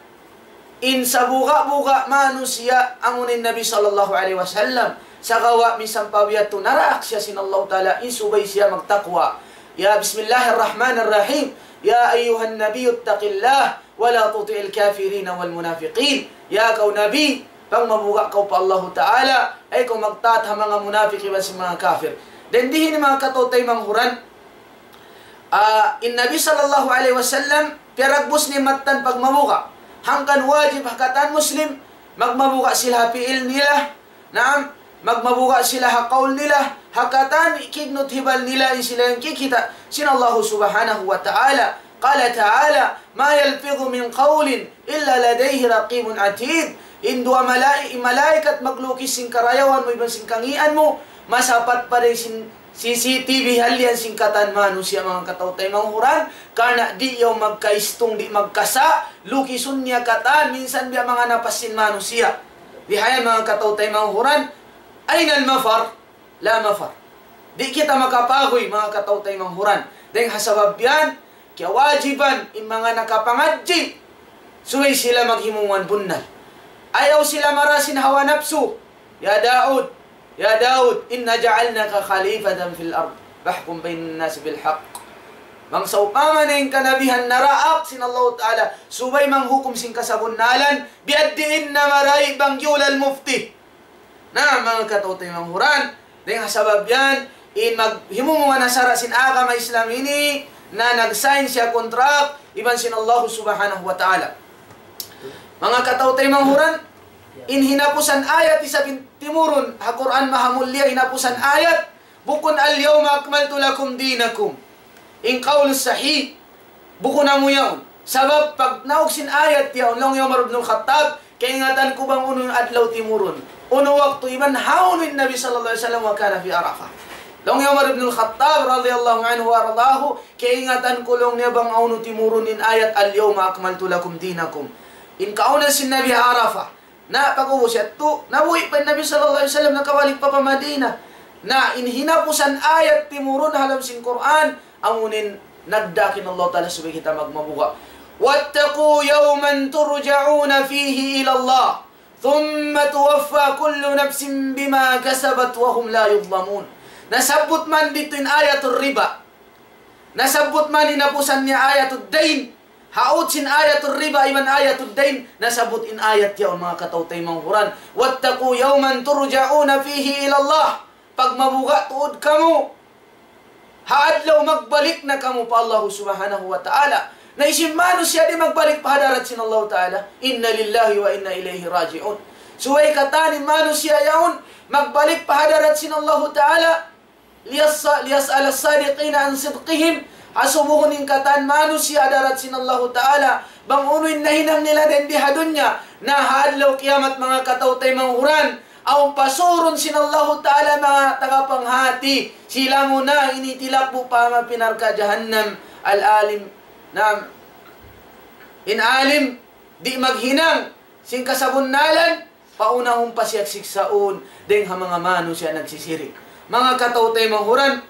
in sabuga'-buga' manusiya' amu in Nabi sallallahu alayhi wasallam. Sagawa' minsan pa biya' tu naraak siya sin Allahu Ta'ala, in subay siya magtaqwa. Ya, بسم الله الرحمن الرحيم. يا أيها النبي اتق الله ولا تطع الكافرين والمنافقين. Ya kaw Nabi, pangmabuga' kaw pa Allahu Ta'ala, ayaw kaw magtaat ha manga munafik iban sin manga kafir. Dayn didtu manga kataw-taymanghuran, ah, in Nabi sallallahu alayhi wasallam, piyaragbus niya in mattan pagmabuga'. Hangkan wajib ha katan Muslim, magmabuga' sila ha pi'il nila, naam, magmabuga' sila ha qawl nila, ha katan kignut hibal nila in sila yan kikita' sin Allahu Subhanahu wa Ta'ala. قال تعالى: ما يلفظ من قول إلا لديه رقيب عتيد. In duwa malai-, malaikat maglukis sin karayawan mu iban sin kangīan mu, masapat pa dayn sin C C T V halian sin katan manusiya', manga kataw-taymanghuran, karna' di' yaun magkaistung, di' magkasa', lukisun niya katan, minsan biya' manga napas sin manusiya'. Bihayan manga kataw-taymanghuran, أين المفر؟ لا مفر. Di' kita makapaguy, manga kataw-taymanghuran. Dayn ha sabab yan, kiyawajiban in manga nakapangadji', subay sila maghimumungan bunnal. Ayaw sila mara sin hawa napsu. يا داود، يا داود، إنا جعلناك خليفة في الأرض فاحكم بين الناس بالحق. Bang sawpama na in kanabihan naraak sin Allahu Ta'ala, subay manghukum sin kasabunnalan, biya' diin na marayaw bang yulal mufti. Na, manga kataw-taymanghuran, dayn ha sabab yan, in maghimumungan ha sara' sin agama Islam ini, na nag-sign siya kontrak, iban sin Allah Subhanahu wa Ta'ala. Manga kataw-taymanghuran, in hinapusan ayat isab in timurun, ha Qur'an maha mulia hinapusan ayat, bukun اليوم أكملت لكم دينكم. In qawl sahih, bukun amu yaun. Sabab pagnaug sin ayat yaun, laung hi Umar ibn al-Khattab, kaingatan ku bang unu adlaw timurun. Unu waktu iban hawnu in Nabi sallallahu alayhi wasallam وكان في عرفة. Laung hi Umar ibn al-Khattab radiyallahu anhu wa ardahu, kaingatan ku laung niya bang hawnu timurun in ayat اليوم أكملت لكم دينكم. In kaawnan sin Nabi ha Arafah. Na pag'ubus yadtu, nabuhi' pa in Nabi sallallahu alayhi wasallam, nakabalik pa pa Madina. Na in hinapusan ayat timurun ha lawm sin Qur'an, amuin nagdaak in Allah Ta'ala subay kita magmabuga'. واتقوا يوما ترجعون فيه إلى الله ثم توفى كل نفس ما كسبت وهم لا يظلمون. Nasabbut man didtu in ayatul riba. Nasabbut man hinapusan niya ayatud dayn. Hawnu sin ayatul riba iban ayatud dayn, nasabbut in ayat yaun, manga kataw-taymanghuran. واتقوا يوما ترجعون فيه إلى الله. Pagmabuga' tuud kamu. ha adlaw magbalik na kamu pa Allah Subhanahu wa Ta'ala. Na hisiyu in manusiya' di' magbalik pa hadarat sin Allah Ta'ala? إنا لله وإنا إليه راجعون. Subay katan in manusiya' yaun magbalik pa hadarat sin Allah Ta'ala. ليس-، ليسأل الصادقين عن صدقهم. Asubuhun in katan manusiya' ha hadarat sin Allah Ta'ala bang unu in nahinang nila dayn di ha dunya. Na ha adlaw kiyamat, manga kataw-taymanghuran, awn pasurun sin Allahu Ta'ala manga tagapanghati. Sila muna ini tilakbu pa mapinarka jahannam. Al-alim, naam. In alim, di' maghinang sin kasabunnalan, paunahun pa siya siksaun dayn ha manga manusiya' nagsisirik. Manga kataw-taymanghuran,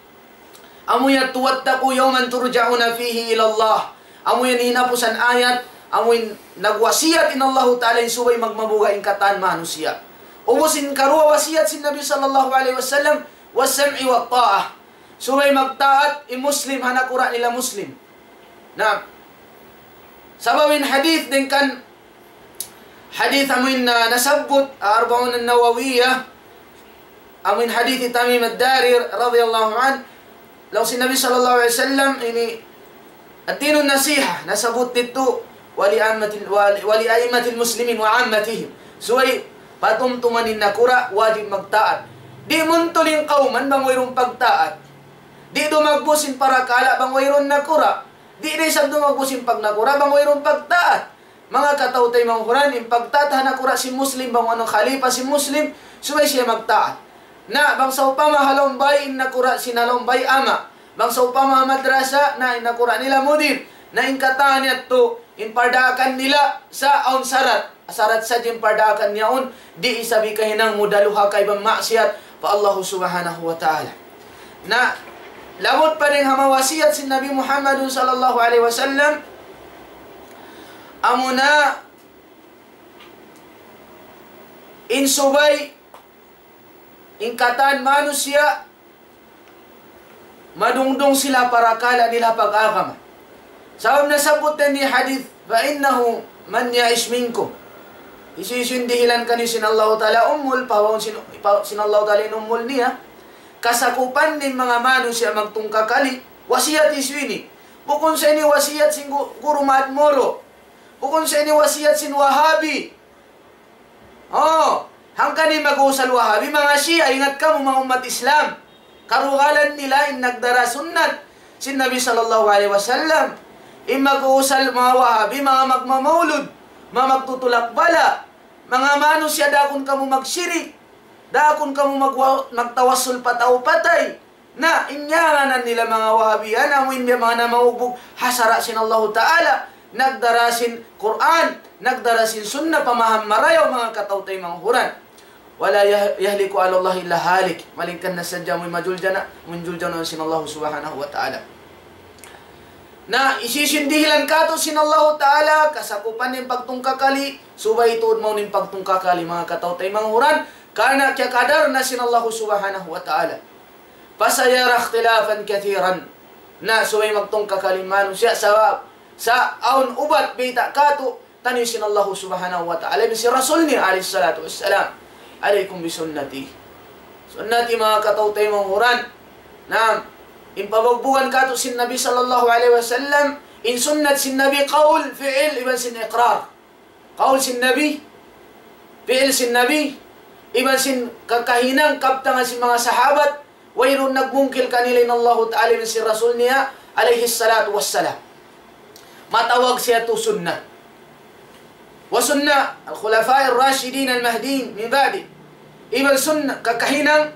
amu yan, واتقوا يوما ترجعون فيه إلى الله. Amu yan hinapusan ayat, amu in nagwasiyat in Allahu Ta'ala in subay magmabuga' in katan manusiya'. Ubus in karuwa wasiyat sin Nabi sallallahu alayhi wasallam, والسمع والطاعة. Subay magtaat in Muslim ha nakura' nila Muslim. Na, sabab in hadith dayn kan hadith amu in, ah, nasabbut, ah, Arba'un an-Nawawiyah, amu in hadith Tamim ad-Dari radiyallahu anhu, laung sin Nabi sallallahu alayhi wasallam, ini الدين النصيحة, nasabbut didtu, ولعامة ال-، ول-، ولأئمة المسلمين وعامتهم. Subay patumtuman in nakura', wajib magtaat. Di' muntul in kawman bang wayruun pagtaat. Di' dumagbus in parakala' bang wayruun nakura'. Di' da isab dumagbus in pagnakura' bang wayruun pagtaat. Manga kataw-taymanghuran, in pagtaat ha nakura' sin Muslim, bang unu khalifa sin Muslim, subay siya magtaat. Na, bang sawpama ha lawm bay, in nakura' sin ha lawm bay ama'. Bang sawpama ha madrasa, na in nakura' nila mudir. Na in katan yadtu, in pardaakan nila sa awn sarat. Sarat sadja in pardaakan yaun, di' isab hikahinang mu daluha kaibanan maksiyat pa Allahu Subhanahu wa Ta'ala. Na, labut pa dayn ha manga wasiyat sin Nabi Muhammadun sallallahu alayhi wasallam, amuna in subay in katan manusiya' madungdung sila parakala' nila pag-agama. Sabab nasabbut dayn ha hadith, فإنه من يعش منكم. Hisiyu-siyu in dihilan kaniyu sin Allahu Ta'ala umul, pahawaun sin, pa-, sin Allahu Ta'ala in umul niya. Kasakupan sin manga manusiya' magtungkakali, wasiyat hisiyu ini? Bukun sa ini wasiyat sin gu-, guru Maad Moro. Bukun sa ini wasiyat sin Wahabi. Oh, hangkan in mag-uusal Wahabi, manga Shia, ingat kamu, manga ummat Islam. Karugalan nila in nagdara sunnat sin Nabi sallallahu alayhi wasallam. In mag-uusal manga Wahabi, manga magmamaulud, manga magtutulak bala, manga manusiya', daakun kamu magsirik, daakun kamu magwa-, magtawassul pa tau patay. Na, in ngānan nila manga Wahabiya, amu in biya' manga namaugbug ha sara' sin Allahu Ta'ala, nagdara sin Qur'an, nagdara sin Sunnah, pamaham marayaw, manga kataw-taymanghuran. ولا يه-، يهلك على الله إلا هالك. Malayngkan na sadja amu in majuljana', manjuljana' sin Allahu Subhanahu wa Ta'ala. Na, hisiyu-siyu in dihilan kātu' sin Allahu Ta'ala, kasakupan in pagtungkakali, subay tuud mawn in pagtungkakali, manga kataw-taymanghuran, karna' kiyakadar na sin Allahu Subhanahu wa Ta'ala. فسيرى اختلافا كثيرا. Na, subay magtungkakali in manusiya' sabab sa awn ubat bayta' kātu'niyu sin Allahu Subhanahu wa Ta'ala iban sin Rasul niya alayhi salatu wassalam. عليكم بسنتي. Sunnati, manga kataw-taymanghuran. Naam, in pabugbugan kātu' sin Nabi sallallahu alayhi wasallam, in sunnat sin Nabi qawl, fi'il, iban sin iqrar. Qawl sin Nabi, fi'il sin Nabi, iban sin kakahinang kabtangan sin manga sahabat, wayruun nagmungkil kanila in Allahu Ta'ala iban sin Rasul niya, alayhi salatu wassalam. Matawag siya tu sunnah. وسنة الخلفاء الراشدين المهديين من بعده. Iban sunnah, kakahinang,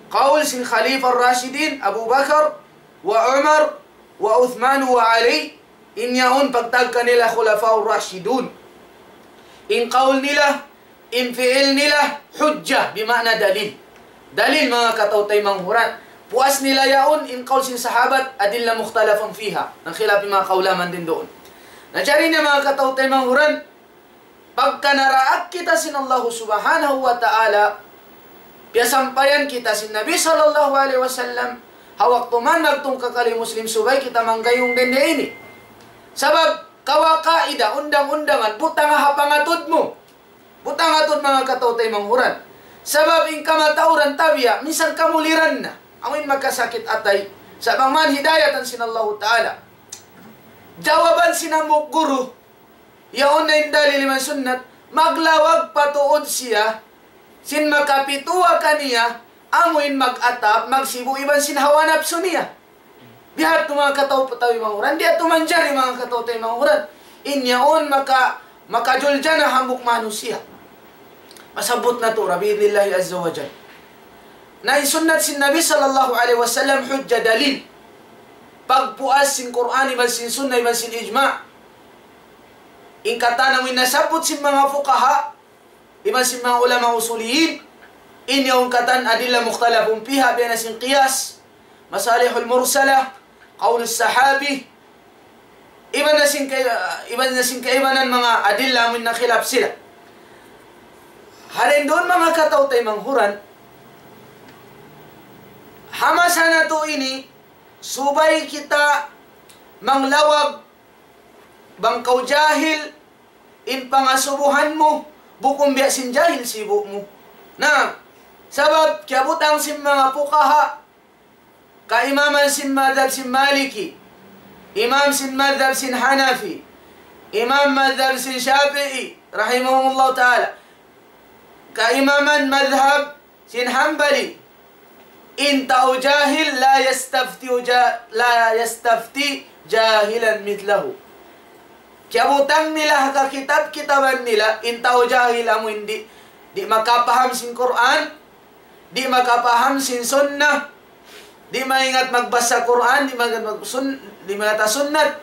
qawl sin Khalifa Rashidin, Abu Bakar, wa Umar, wa Uthman, wa Ali, in yaun pagtawag kanila Khulafaur Rashidun. In qawl nila, in fi'il nila, hujjah, bima'na dalil. Dalil, manga kataw-taymanghuran. Puas nila yaun, in qawl sin sahabat, adilla mukhtalafun fiha. Nagkhilaf in manga kaulamaan dayn duun. Na jari na, manga kataw-taymanghuran, pagka naraak kita sin Allahu Subhanahu wa Ta'ala, piyasampayan kita sin Nabi sallallahu alayhi wasallam, ha waktu man nagtungkakali Muslim, subay kita manggayung dayn di ini. Sabab, kawa kaida, undang-undangan, butang ha pangatud mu. Butang ha atud, manga kataw-taymanghuran. Sabab in kamatauran tabiya', minsan kamuliran na. Amu in makasakit atay, Sa' bang man hidayatan sin Allahu Ta'ala. Jawaban sin hambuuk guru, yaun na in dalil iban sunnat, maglawag pa tuud siya, sin makapituwa kaniya, amuin mag-atap, magsibu' iban sin hawa napsu niya. Biya' hādtu manga kataw-taymanghuran, di' hādtu manjari manga kataw-taymanghuran. In yaun maka-, makajuljana hambuuk manusiya'. Masabbut natu' ra bi'idhnillahi azza wa jal. Na in sunnat sin Nabi sallallahu alayhi wasallam hujja, dalil. Pagpuas sin Qur'an iban sin sunnah iban sin ijma'. In katan amuin nasabbut sin manga fuqaha, iban sin manga ulama usuliyin, in yaun katan adilla mukhtalafun fiha, biya' na sin qiyas, masalihul mursala, qawlus sahabi, iban na sin kay-, iban na sin kaibanan manga adilla amuin nakhilaf sila. Hāti niya duun manga kataw-taymanghuran, ha masa natu' ini, subay kita manglawag bang kaw jahil, in pangasubuhan mu, bukun biya' sin jahil sibu' mu. Na, sabab kiyabutang sin manga fuqaha, kaimaman sin madhab sin Maliki, imam sin madhab sin Hanafi, imam madhab sin Shafi'i, rahimahumullahu ta'ala, kaimaman madhab sin Hanbali, in tau jahil, لا يستفتي جا-، لا يستفتي جاهلا مثله. Kiyabutang nila ha kakitab-kitaban nila, in tau jahil amuin di', di' makapaham sin Qur'an, di' makapaham sin sunnah, di' maingat magbasa Qur'an, di' maingat mag-, sun-, di' maingat ha sunnat.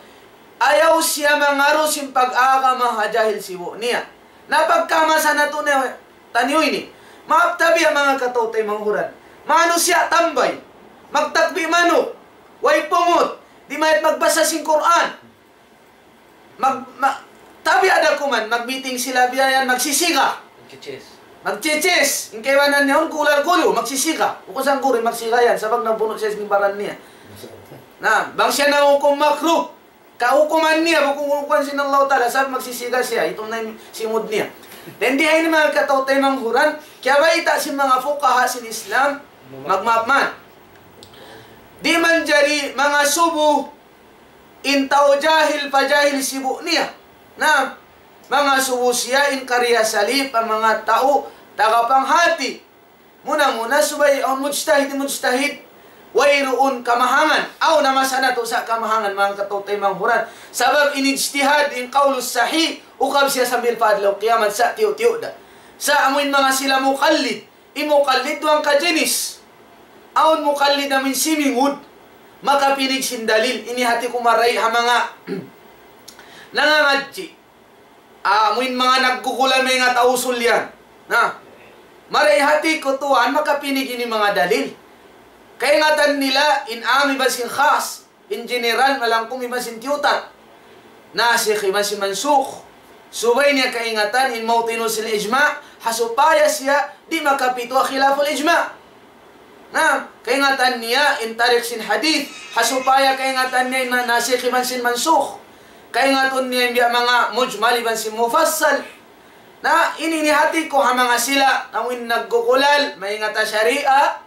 Ayaw siya mangaru sin pag-agama ha jahil sibu' niya. Na pagka masa natu' na taniyu ini. Maap tabiya' manga kataw-taymanghuran. Manusiya' tambay. Magtakbi' manuk. Way pungut. Di' maingat magbasa sin Qur'an. Mag-, ma-, tabiya' da kuman, mag-meeting sila biya' yan, magsisiga. Magchichis. Magchichis. In kaibanan niya, un kulal kuyu, magsisiga. Bukun sa guru, magsiga yan, sabab nabunu' siya sin baran niya. Na, bang siya nahukum makruh, kahukuman niya, bukun hukuman sin Allah Ta'ala, sabab magsisiga siya, itum na in simud niya. Then di' ini manga kataw-taymanghuran, kiyabayta' sin manga fuqaha sin Islam, magmaap man. Di' manjari mangasubu in tau jahil pa jahil sibu' niya. Na, mangasubu siya in karna' salip pa manga tau taga panghati. Muna-muna subay awn mujtahid, mujtahid. Wayruun kamahangan. Awn na masa natu' sa' kamahangan, manga kataw-taymanghuran. Sabab in ijtihad, in qawlus sahih, ukab siya sambil pa adlaw kiyamat sa' tiyu'-tiyu' da. Sa' amuin manga sila muqallid. In muqallid duwang kajinis. Awn muqallid amuin simingud. Makapinig sin dalil. Ini hati ku marayaw ha manga nangangadji'. Amuin manga naggugulal maingat ha usul yan. Na, marayaw hati ku tuwan makapinig ini manga dalil. Kaingatan nila in am iban sin khas, in general, malangkum iban sin tiyutat. Nasikh iban sin mansukh. Subay niya kaingatan in mawtinu sin ijma', ha supaya siya di' makapituwa khilaful ijma'. Na, kaingatan niya in tarik sin hadith, ha supaya kaingatan niya in ma-, nasikh iban sin mansukh. Kaingatun niya in biya' manga mujmal iban sin mufassal. Na, ini in hati ku ha manga sila, amuin naggugulal, maingat ha sharia,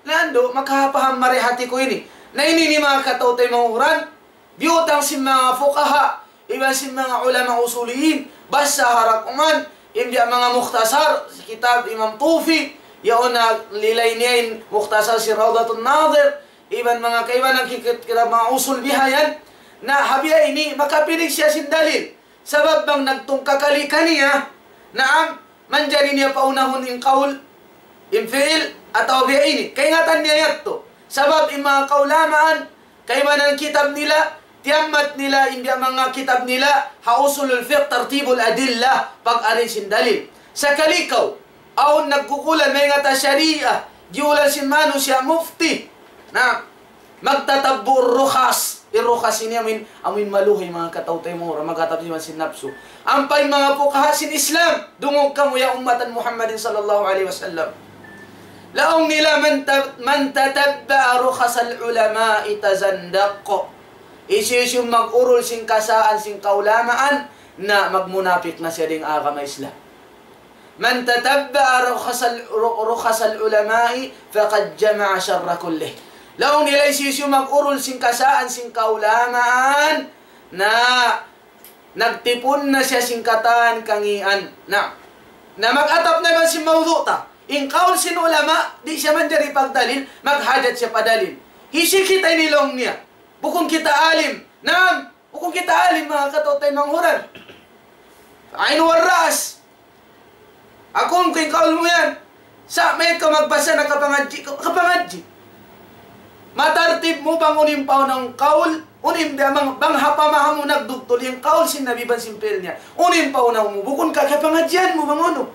na andu', makapaham marayaw hati ku ini. Na ini in manga kataw-taymanghuran, biyutang sin manga fuqaha, iban sin manga ulama usuliyin, basa ha dakuman, in biya' manga mukhtasar, kitab Imam Tufi, yaun na lilay niya in mukhtasar sin Rawdatun Nadhir, iban manga kaibanan kit-, kitab manga usul bihayan, na ha biya' ini, makapinig siya sin dalil. Sabab bang nagtungkakali kaniya, naam, manjari niya paunahun in qawl, in fi'il, atawa biya' ini. Kaingatan niya yadtu. Sabab in manga kaulamaan, kaibanan kitab nila, tiyammat nila, in biya' manga kitab nila, ha usulul fiqh, tartibul adillah, pag-arrange sin dalil. Sakali kaw, awn naggugulal maingat ha sharia, giyulal sin manusiya' mufti. Na, magtatabbu' rukhas. In rukhas ini amuin, amuin maluhay manga kataw-taymanghuran, magtatabbu' sin napsu. Ampa in manga fuqaha sin Islam, dungug kamu ya ummatan Muhammadin sallallahu alayhi wasallam. Laung nila, من ت-، من تتبع رخص العلماء تزندق. Hisiyu-siyu mag-urul sin kasaan sin kaulamaan, na magmunapik na siya dayn ha agama Islam. من تتبع رخص ال-، ر-، رخص العلماء فقد جمع الشر كله. Laung nila hisiyu-siyu mag-urul sin kasaan sin kaulamaan, na nagtipun na siya sin katan kangīan. Na, na mag-atap na iban sin mawdu' ta. In kaul sin ulama, di' siya manjari pagdalil, maghajat siya pa dalil. Hisiyu kita ini laung niya. Bukun kita alim. Naam, bukun kita alim, manga kataw-taymanghuran. Ain wal ra's. Aku, in kaul mu yan. Sa' mayta' kaw magbasa, nakapangadji' kaw, kapangadji'. Matartib mu bang unu in pauna mu kaul, unu in bang, bang ha pamaham mu nagdugtul in kaul sin Nabi iban sin fi'il niya. Unu in pauna mu, bukun ka kapangadjian mu bang unu.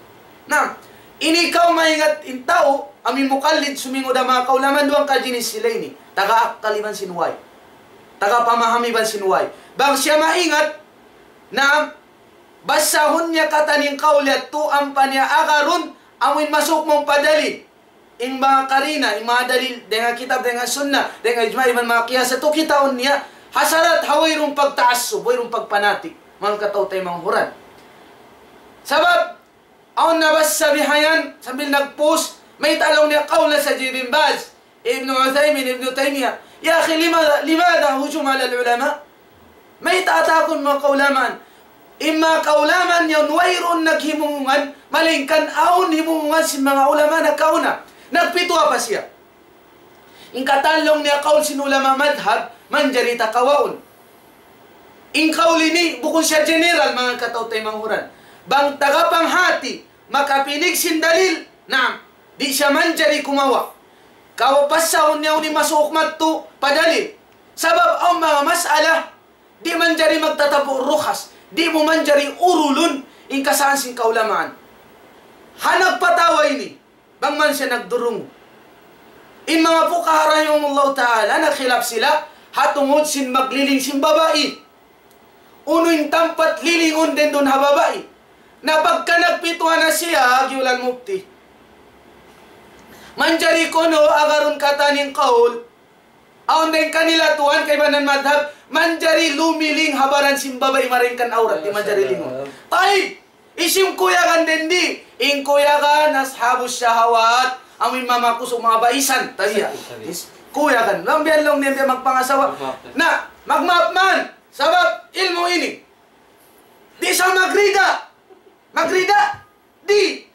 Na, ini kaw maingat in tau, amu in mukallid sumingud ha manga kaulamaan, duwa kajinis sila ini. Taga akkal iban sin way. Taga pamaham iban sin way. Bang siya maingat, na, basahun niya katan in kaul yadtu ampa niya agarun, amu in masuk mu pa dalil. In manga karina, in manga dalil, dayn ha kitab, dayn ha sunnah, dayn ha ijma', iban manga qiyas, yadtu kitaun niya, ha sarat ha wayruun pagtaassub, wayruun pagpanatik, manga kataw-taymanghuran. Sabab, awn nabasa bihayan, sambil nag-post, mayta' laung niya kaul na sa Ibn Baz, Ibn Uthaymin, Ibn Taymiyyah. يا أخي، لماذا، لماذا هجوم على العلماء؟ Mayta' atakun manga kaulamaan? In manga kaulamaan yaun wayruun naghimumungan, malaingkan awn himumungan sin manga ulama nakauna. Nagpituwa pa siya. In katan laung niya kaul sin ulama madhab, manjari ta kawaun. In kaul ini bukun siya general, manga kataw-taymanghuran. Bang taga panghati, makapinig sin dalil, naam, di' siya manjari kumawa'. Kaw pasahun niya unu in masuuk madtu pa dalil. Sabab awn manga mas'ala, di' manjari magtatabu' rukhas. Di' mu manjari urulun in kasaan sin kaulamaan. Ha nagpatawa ini, bang man siya nagdurung. In manga fuqaha rahimahumullahu ta'ala, nagkhilaf sila, ha tungud sin magliling sin babai. Unu in tampat lilingun dayn duun ha babai. Na pagka nagpituwa na siya, agi ulan mufti. Manjari kunu' agarun katan in kaul. Awn dayn kanila tuwan kaibanan madhab, manjari lumiling ha baran sin babai malaingkan awrat, di' manjari lingun. Tayyib, hisiyu in kuyagan dayn di? In kuyagan ashabus shahawat, amu in mamakusug mabaisan. Tabiya'. Is-, kuyagan. Laung biya' laung niya magpangasawa. Magmaap. Na, magmaap man. Sabab ilmu' ini. Di' sa magrida. Magrida. Di'.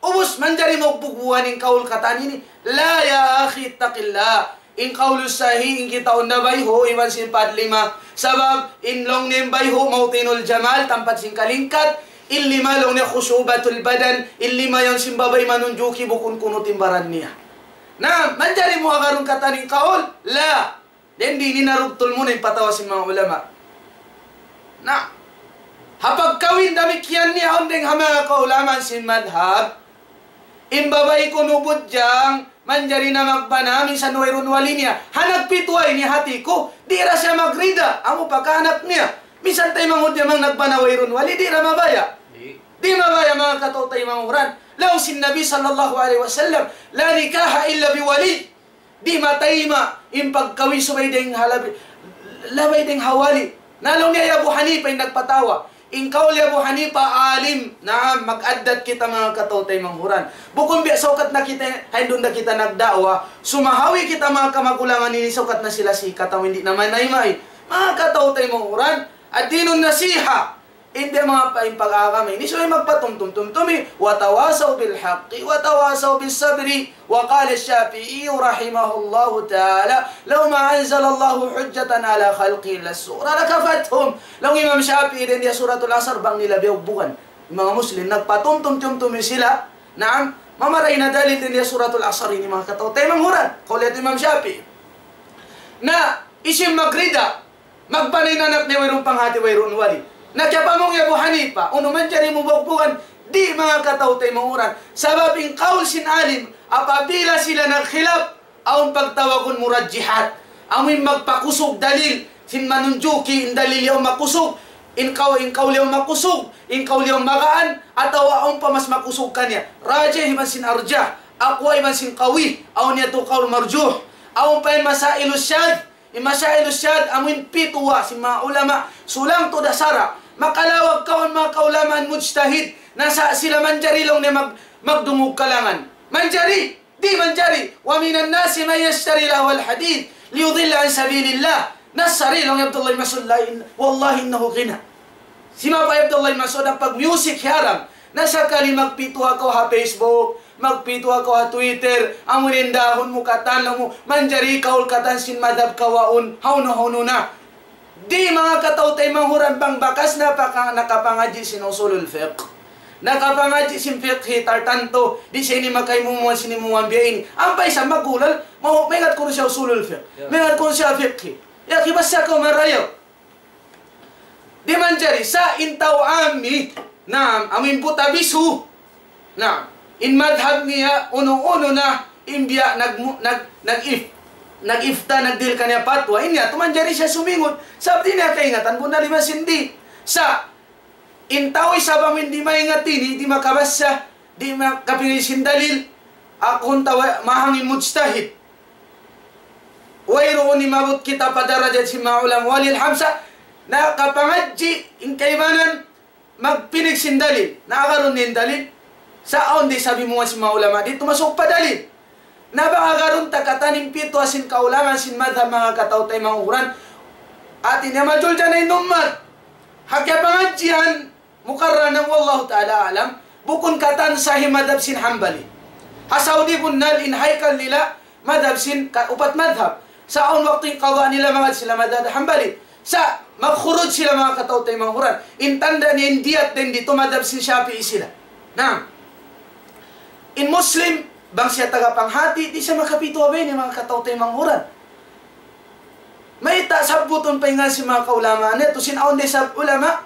Ubus manjari mu bugbugan in kaul katan ini. لا يا أخي، اتق الله. In kaul sahih, in kitaun na bayhu', iban sin pad lima. Sabab, in laung niya bayhu', موطن الجمال, tampat sin kalingkat. In lima laung niya خصوبة البدن. In lima yan sin babai manunjuki bukun kunu' timbaran niya. Na, manjari mu agarun katan in kaul? La. Dayn di ini narugtul mu na in patawa sin manga ulama. Na, ha pagkawin damikkiyan niya awn dayn ha manga kaulamaan sin madhab, in babai kunu' budjang, manjari na magbana, minsan wayruun wali niya. Ha nagpituwa ini hati ku, di' ra siya magrida, amu pa kaanak niya. Minsan taymanghud niya bang nagbana wayruun wali, di' ra mabaya'. Di'. Di' mabaya', manga kataw-taymanghuran. Laung sin Nabi sallallahu alayhi wasallam, لا نكاح إلا بولي. Di' matayma' in pagkawin subay dayn ha labi, labay dayn ha wali. Na laung niya hi Abu Hanifa in nagpatawa. In kaul hi Abu Hanifa alim. Naam, mag-addat kita manga kataw-taymanghuran. Bukun biya' saukat na kita, hain duun na kita nagda'wa. Sumahawi kita manga kamagulangan ini saukat na sila sikat amu in di' na manayma'. Manga kataw-taymanghuran. الدين النصيحة. In biya' manga pa-, in pag-agama ini, subay magpatumtum-tumtumi, وتواصوا بالحق وتواصوا بالصبر. وقال الشافعي رحمه الله تعالى: لو ما أنزل الله حجة على خلقه إلا الصغرى لكفتهم. Laung Imam Shafi'i dayn di ha Suratul Asr, bang nila biyugbugan. In manga Muslim, nagpatumtum-tumtumi sila, naam, mamaray na dalil dayn di ha Suratul Asr ini, manga kataw-taymanghuran. Kaul yadtu Imam Shafi'i. Na, hisiyu in magrida, magbana in anak niya wayruun panghati, wayruun wali. Na kiyapamung hi Abu Hanifa, unu manjari mu bugbugan? Di', manga kataw-taymanghuran. Sabab in kaul sin alim, apabila sila nagkhilaf, awn pagtawagun murajjihat. Amu in magpakusug dalil, sin manunjuki in dalil yaun makusug, in kaul, in kaul yaun makusug, in kaul yaun magaan, atawa awn pa mas makusug kaniya. Rajih iban sin arjah, aqwa iban sin qawi, awn yadtu kaul marjuh. Awn pa in masailu shadh, In masailu shadh, amu in pituwa sin manga ulama, sulang tuud ha sara'. Makalawag kaw in manga kaulamaan mujtahid, na sa' sila manjari laung niya mag-, magdungug kalangan. Manjari, Di' manjari, ومن الناس من يشتري لهو الحديث ليضل عن سبيل الله. Na sari laung hi Abdullah bin Mas'ud, la in, والله إنه غنى. Simapay hi Abdullah bin Mas'ud, in pag-music haram. Na sakali magpituha kaw ha Facebook, magpituha kaw ha Twitter, amu in dahun mu katan laung mu, manjari kaul katan sin madhab kawaun, hawnu-hawnu na. Di' manga kataw-taymanghuran bang bakas na paka-, nakapangadji' sin usulul fiqh. Nakapangadji' sin fiqh tartantu, di' siya ini makaimuman sin imuman biya' ini. Ampa isab magulal, mau-, maingat kunu' siya usulul fiqh. Ya. Maingat kunu' siya fiqh. Ya, kibasa kaw marayaw. Di' manjari, sa' in tau ammi, naam, amu in buta bisu. Naam, in madhab niya, unu-unu na, in biya' nag-, nag-, nag-if-, nag-ifta, nagdihil kaniya patwa, in yadtu manjari siya sumingun. Sabab di' niya kaingatan, bunnal iban sin di'. Sa', in tau isab amu in di' maingat ini, di' makabasa, di' makapingil sin dalil, aku in tau mahang in mujtahid. Wayruun imabut kita pa darajat sin manga ulama. Walillahil hamd, sa' nakapangadji' in kaibanan, magpinig sin dalil. Na agarun in dalil. Sa' awn di' sabi mu sin manga ulama, di' tumasuk pa dalil. Na bang agarun ta katan in pituwa sin kaulamaan sin madhab manga kataw-taymanghuran. Hati niya majul dyan in ummat. Ha kiyapangadjian, mukarranan, wallahu ta'ala a'lam, bukun katan sahih madhab sin Hanbali. Ha Saudi bunnal in haykal nila madhab sin ka-, upat madhab. Sa' awn waktu in qada nila mangad sila madhab Hanbali. Sa' magkhuruj sila manga kataw-taymanghuran. In tanda' niya in diyat dayn ditu madhab sin Shafi'i sila. Na, in Muslim, bang siya taga panghati, di' siya makapituwa biya' ini manga kataw-taymanghuran. Mayta' sabbutun pa in ngan sin manga kaulamaan yadtu, sin awn da isab ulama,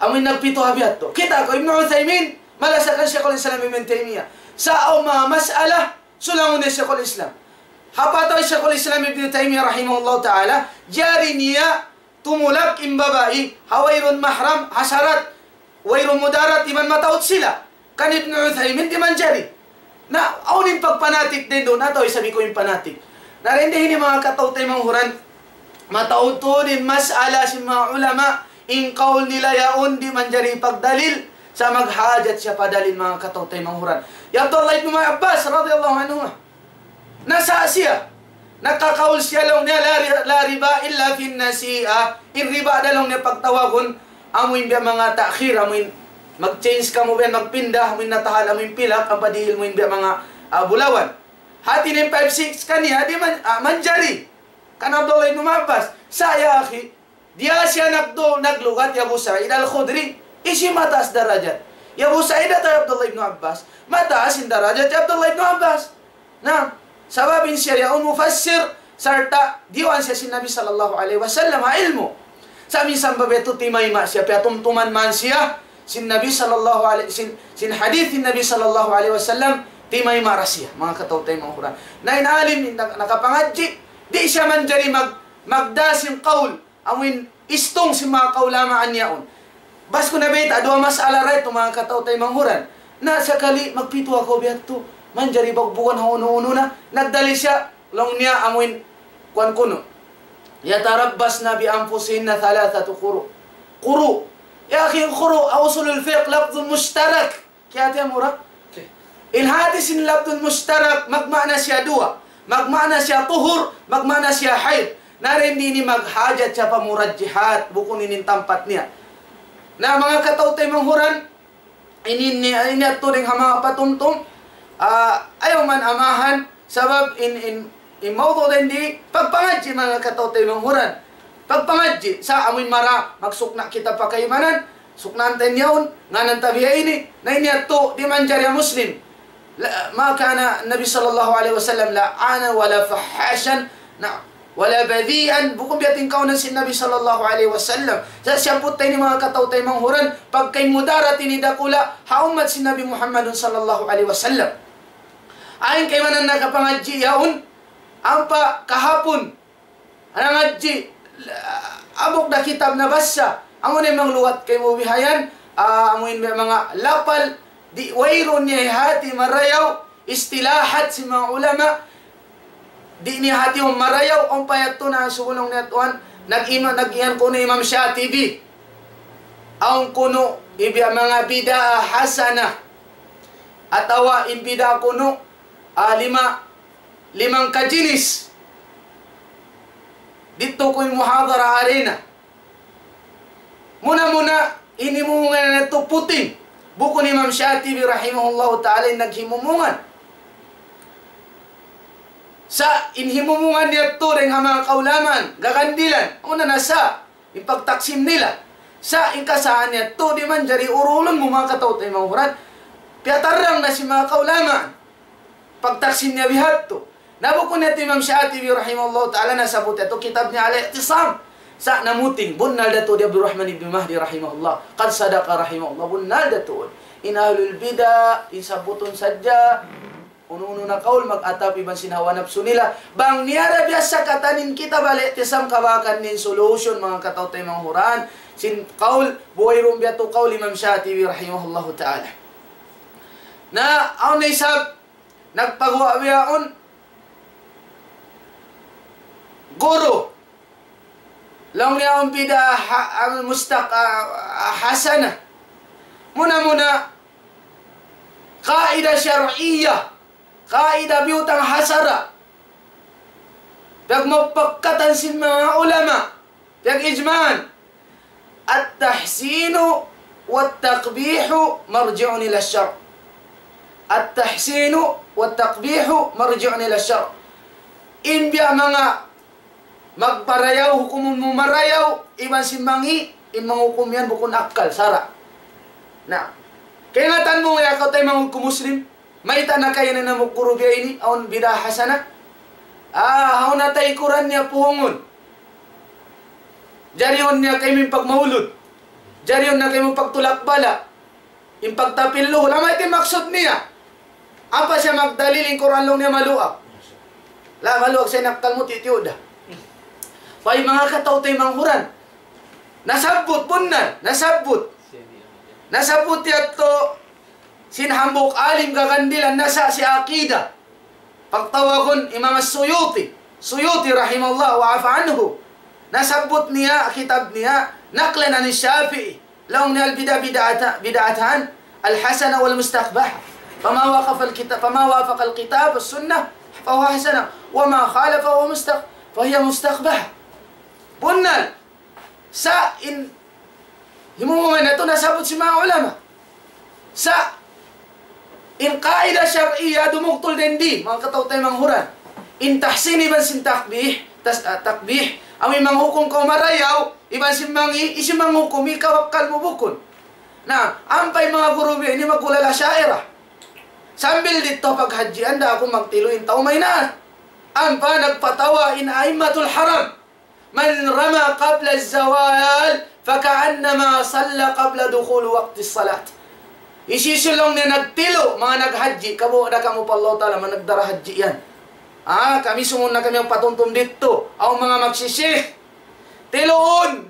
amu in nagpituwa biya' yadtu. Kita' kaw, Ibn Uthaymin, malasa kan Shaykhul Islam Ibn Taymiyyah. Sa' awn manga mas'ala, sulangun niya Shaykhul Islam. Ha patawa Shaykhul Islam Ibn Taymiyyah rahimahullahu ta'ala, jari niya tumulak in babai, ha wayruun mahram, ha sarat, wayruun mudarat, iban mataud sila. Kan Ibn Uthaymin di' manjari. Na, awn in pagpanatik dayn duun, atawa isab ku in panatik. Na, dayn di ini manga kataw-taymanghuran, mataud tuud in mas'ala sin manga ulama, in kaul nila yaun di' manjari pagdalil, sa' maghajat siya pa dalil manga kataw-taymanghuran. Ya Abdullah ibn Abbas radiyallahu anhuma. Nasa' siya. Nakakaul siya laung niya, لا ر-، لا ربا إلا في النسيئة. In riba da laung niya pagtawagun, amu in biya' manga ta'khir, amu in mag-change kamu biya' magpinda, amu in natahal, amu in pilak, ampa dihil mu in biya' manga, ah, bulawan. Hati niya in five six kaniya, di' man-, ah, manjari. Kan Abdullah ibn Abbas, sa' ya akhi, diya siya nagdu-, naglugat hi Abu Sa'id Al-Khudri, hisiyu in mataas darajat? Hi Abu Sa'id atawa hi Abdullah ibn Abbas? Mataas in darajat hi Abdullah ibn Abbas. Na, sabab in siya yaun mufassir, sarta' diyuwaan siya sin Nabi sallallahu alayhi wasallam ha ilmu'. Sa' minsan bang biya' yadtu timayma' siya, piyatumtuman man siya sin Nabi sallallahu alayhi, sin, sin hadith sin Nabi sallallahu alayhi wasallam, timayma' ra siya, manga kataw-taymanghuran. Na in alim, in nak-, nakapangadji', di' siya manjari mag-, magdā sin qawl, amuin istung sin manga kaulamaan yaun. Bas ku na bayta', duwa mas'ala ra yadtu manga kataw-taymanghuran. Na sakali magpituwa kaw biya' yadtu, manjari bugbugan ha unu-unu na. Nagdalil siya, laung niya amuin kuwan kunu'. يتربصن بأنفسهن ثلاثة قروء. Quru'. Ya akhi, quru', ha usulul fiqh, lafdhun mushtarak. Kiyahatihan mu ra? In hati sin lafdhun mushtarak, magmaana siya duwa. Magmaana siya tuhur, magmaana siya hayd. Na dayn di ini maghajat siya pa murajjihat, bukun ini in tampat niya. Na manga kataw-taymanghuran, ini, ini, ini yadtu dayn ha manga patumtum, ah, ayaw man amahan, sabab in, in, in mawdu' dayn di, pagpangadji' manga kataw-taymanghuran. Pagpangadji', sa' amuin mara, magsukna' kita pa kaibanan, suknaan ta in yaun, ngānan ta biya' ini, na ini yadtu, di' manjari ha Muslim. لا، ما كان النبي صلى الله عليه وسلم لعانا ولا فحاشا، نعم، ولا بذيئا, bukun biya' ha tingkaunan sin Nabi sallallahu alayhi wasallam. Sa' siyabbut ta ini manga kataw-taymanghuran, pagka in mudarat ini dakula', ha ummat sin Nabi Muhammadun sallallahu alayhi wasallam. Ayn kaibanan nakapangadji' yaun, ampa kahapun, nangadji', hambuuk da kitab nabassa. Amu na in manga lugat kaymu bihayan, ah, amu in manga lapal, di' wayruun niya hati marayaw, istilahat sin manga ulama, di' niya hati marayaw, ampa yadtu na subulung niya tuwan, nag-ima-, nag-iyan kunu' Imam Shatibi. Awn kunu' in biya' manga bid'ah hasanah. Atawa in bid'ah kunu', ah, lima, limang kajinis. Didtu ku in muhadara arena. Muna-muna, in himumungan natu' puting. Bukun Imam Shatibi rahimahullahu ta'ala in naghimumungan. Sa' in himumungan niya tuud dayn ha manga kaulamaan, gagandilan, unu na sa', in pagtaksim nila. Sa' in kasaan niya tuud di' manjari urulun mu manga kataw-taymanghuran, piyatarrang na sin manga kaulamaan. Pagtaksim niya bihadtu. Na bukun yadtu Imam Shatibi rahimahullah ta'ala nasabbut yadtu kitab niya Al-I'tisam. Sa' namuting, bunnal da tuud hi Abdurrahman ibn Mahdi rahimahullah. قد صدق رحمه الله, bunnal da tuud. In ahlul bid'ah, in sabbutun sadja, unu-unu na kaul mag-atap iban sin hawa napsu nila. Bang niya da biya' sa katan in kitab Al-I'tisam kabakan in solution manga kataw-taymanghuran. Sin kaul, buhay rum biya' tu kaul Imam Shatibi rahimahullahu ta'ala. Na, awn na isab, nagpaguwa' bihaun, guru. Laung niya awn bid'ah ha-, al-mustaq-, ah, ah, hasana. Muna-muna, qaida shar'iyya, qaida biyutang ha sara'. Piyagmupakatan sin manga ulama, piyag-ijma'an. التحسين والتقبيح مرجع إلى الشرع. التحسين والتقبيح مرجع إلى الشرع. In biya' manga magparayaw, hukumun mu marayaw, iban sin mangi', in manghukum yan bukun akkal, sara'. Na, kaingatan mu ya kaw tay manghukum Muslim, mayta' na kaya na namukuru biya' ini, awn bid'ah hasana. Ah, awn na tay Qur'an niya puhungun. Jarihun niya kaymu in pagmaulud. Jarihun niya kaymu pagtulak bala. In pagtapil luhul. Amu yadtu in maksud niya. Ampa siya magdalil in Qur'an laung niya maluag. La, maluag sa in akkal mu, tiyuda. Pay manga kataw-taymanghuran. Nasabbut, bunnal. Nasabbut. Nasabbut yadtu sin hambuuk alim gagandilan nasa' sin aqida. Pagtawagun Imam As-Suyuti. Suyuti rahimahullah wa afa anhu. Nasabbut niya, kitab niya, نقلا عن الشافعي. Laung niya البدع بدعة-، بدعتان، الحسنة والمستقبحة. فما وافق الكتاب، فما وافق الكتاب والسنة فهو حسنة، وما خالف فهو مستق-، فهي مستقبحة. Bunnal. Sa' in himumungan natu' nasabbut sin manga ulama. Sa' in qaida shar'iyya dumugtul dayn di, manga kataw-taymanghuran. In tahsin iban sin takbih, tas-, ah, takbih, amu in manghukum kaw marayaw, iban sin mangi', hisiyu in manghukum, ikaw akkal mu bukun. Na, ampa in manga guru biya' ini magulal Asha'irah. Sambil didtu paghadjian da aku magtilu in tau mayan. Ampa nagpatawa in a'immatul haram. من رمى قبل الزوال فكأنما صلى قبل دخول وقت الصلاة. Hisiyu-siyu laung niya nagtilu, manga naghadji, kabuga' da kamu pa Allah Ta'ala, manga nagdara hadji yan. Ah, kami sumun na kami ang patumtum didtu. Awn manga magsisi. Tiluun.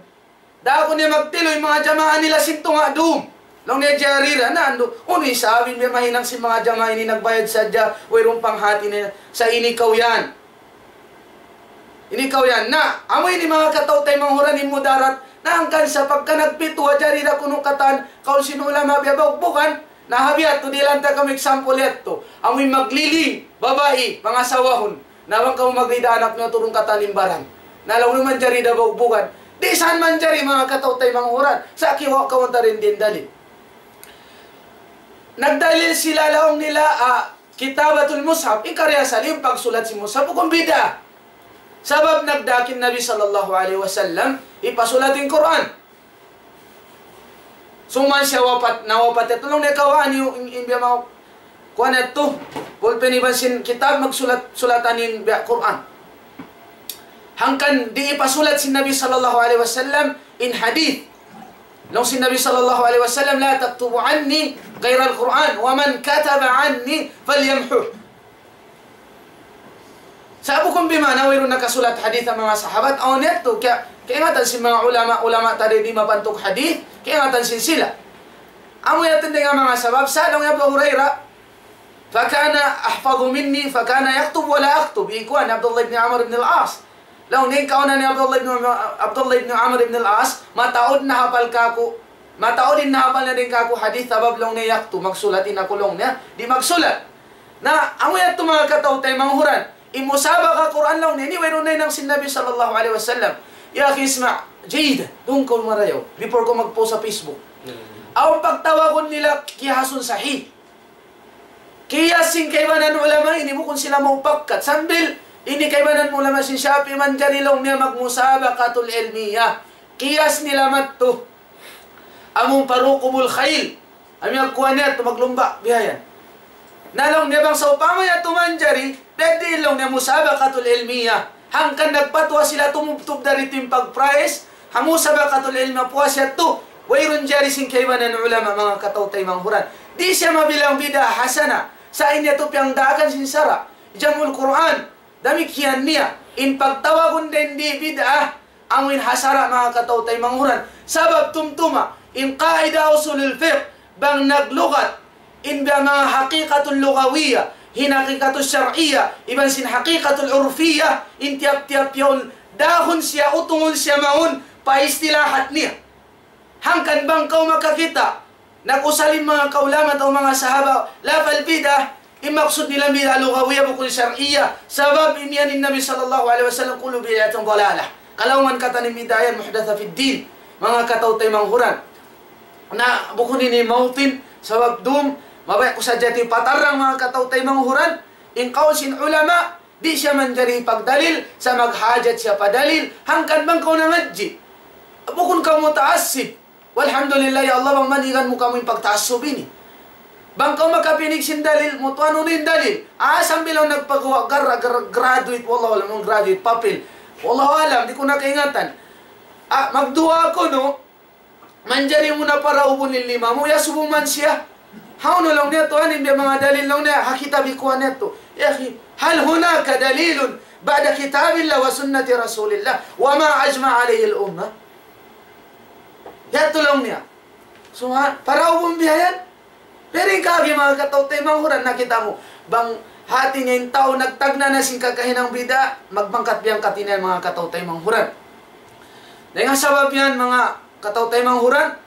Da aku niya magtilu, in manga jamaa nila sin tunga' dum. Laung niya jari ra, na andu', unu isab in biya' mahinang sin manga jamaa ini nagbayad sadja, wayruun panghati nila, sa' ini kaw yan. Ini kaw yan. Na, amu ini manga kataw-taymanghuran in mudarat, na hangkan sa pagka nagpituwa, jari da kunu' katan, kaul sin ulama biya' bukbukan, na ha biya' tu, dihilan ta kamu example yadtu. Amu in magliling, babai, pangasawahun. Na bang kamu maglida anak niyu, turun katan in baran. Na laung niyu manjari da bukbukan. Di' san manjari manga kataw-taymanghuran. Sa' kiyawa' kaw ta dayn di in dalil. Nagdalil sila laung nila, ah, kitabatul mushaf. In karna' asal in pagsulat sin mushaf, bukun bid'ah. Sabab nagdaak in Nabi sallallahu alayhi wasallam, hipasulat in Qur'an. Suman siya wapat, nawapat yadtu laung niya kawaan niyu in, in biya' mau, kuwan yadtu, pulpin iban sin kitab magsulat, sulatan in biya' Qur'an. Hangkan di' hipasulat sin Nabi sallallahu alayhi wasallam in hadith. Laung sin Nabi sallallahu alayhi wasallam, لا تكتبوا عني غير القرآن، ومن كتب عني فليمحه. Sa' bukun bima'na wayruun nakasulat hadith in manga sahabat, awn yadtu, kaya, kaingatan sin manga ulama, ulama ta di' mapantuk hadith, kaingatan sin sila. Amu yadtu in manga sabab, sa' laung hi Abu Hurairah, فكان أحفظ مني، فكان يكتب ولا أكتب. In kuwan, Abdullah ibn Amr ibn al-As. Laung niya in kauna hi Abdullah ibn, Abdullah ibn Amr ibn al-As, mataud nahapal kāku', mataud in nahapal niya dayn kāku' hadith, sabab laung niya yaktub, magsulat in aku laung niya, di' magsulat. Na, amu yadtu manga kataw-taymanghuran. In musabaqa Qur'an laung niya, ini wayruun na hinang sin Nabi sallallahu alayhi wasallam. Ya akhi, isma', jayyid, duun kaw marayaw. Before kaw mag-post sa Facebook. Awn pagtawagun nila qiyasun sahih. Qiyas sin kaibanan ulama ini bukun sila maupakat. Sambil ini kaibanan ulama sin Shafi'i manjari laung niya magmusabaqatul ilmiyah. Qiyas nila madtu. Amu pa rukubul khayl. Amu in kuwan niya tu maglumba, bihayan. Na laung niya bang sawpama yadtu manjari, pwede laung niya musabaqatul ilmiyah. Hangkan nagpatuwa sila tumubtub dari timpag prize, ha musabaqatul ilmiyah puas yadtu, wayruun jari sin kaibanan ulama manga kataw-taymanghuran. Di' siya mabilang bid'ah hasana, sa' in yadtu piyagdaakan sin sara', jam'ul Qur'an, damikkiyan niya, in pagtawagun dayn di bid'ah, amu in ha sara' manga kataw-taymanghuran. Sabab tumtuma, in qaida usulul fiqh, bang naglugat, in biya' manga haqiqatul lugawiyyah, in haqiqatul shar'iyyah, iban sin haqiqatul urfiyyah, in tiyap-tiyap yaun, dahun siya, utungun siya mawn, pa istilahat niya. Hangkan bang kaw makakita', nag-usal in manga kaulama atawa manga sahaba, lafal bid'ah, in maksud nila bid'ah lugawiyyah bukun shar'iyyah. Sabab in yan in Nabi sallallahu alayhi wasallam, كل بدعة ضلالة. Kalaungan katan in bid'ah yan muhdathah fid din. Manga kataw-taymanghuran. Na bukun ini mautin, sabab dum, mabaya' ku sadja ti patarrang manga kataw-taymanghuran. In kaul sin ulama, di' siya manjari pagdalil, sa' maghajat siya pa dalil, hangkan bang kaw nangadji'. Bukun kaw mutaassib. Walhamdulillah, ya Allah, bang manigan mu kamu in pagtaassub ini. Bang kaw makapinig sin dalil, mutuan unu in dalil. Ah, sambil awn nagpaguwa', gar-, gar-, graduate, wallahu alam, graduate, papel. Wallahu alam, di' ku na kaingatan. Ah, magduwaa kunu', manjari mu na paraubun in lima mu, iyasubu man siya. Hawnu laung niya, tuwan, in biya' manga dalil laung niya, ha kitab ikuan niya tu. Ya akhi, هل هناك دليل بعد كتاب الله وسنة رسول الله وما أجمع عليه الأمة؟ Yadtu laung niya. Suma, paraubun bihayan. Pero in kaagi manga kataw-taymanghuran, nakita' mu. Bang hati niya in tau nagtagna' na sin kakahinang bid'ah, magbangkat-biyangkat ini manga kataw-taymanghuran. Dayn ha sabab yan, manga kataw-taymanghuran,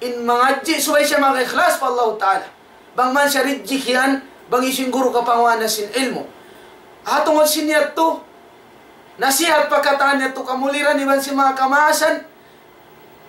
in mangadji' subay siya maka-ikhlas pa Allahu Ta'ala. Bang man siya rijik yan, bang hisiyu in guru kapangunahan sin ilmu'. Ha tungud sin yadtu, nasihat pa katan yadtu kamuliran iban sin manga kamaasan,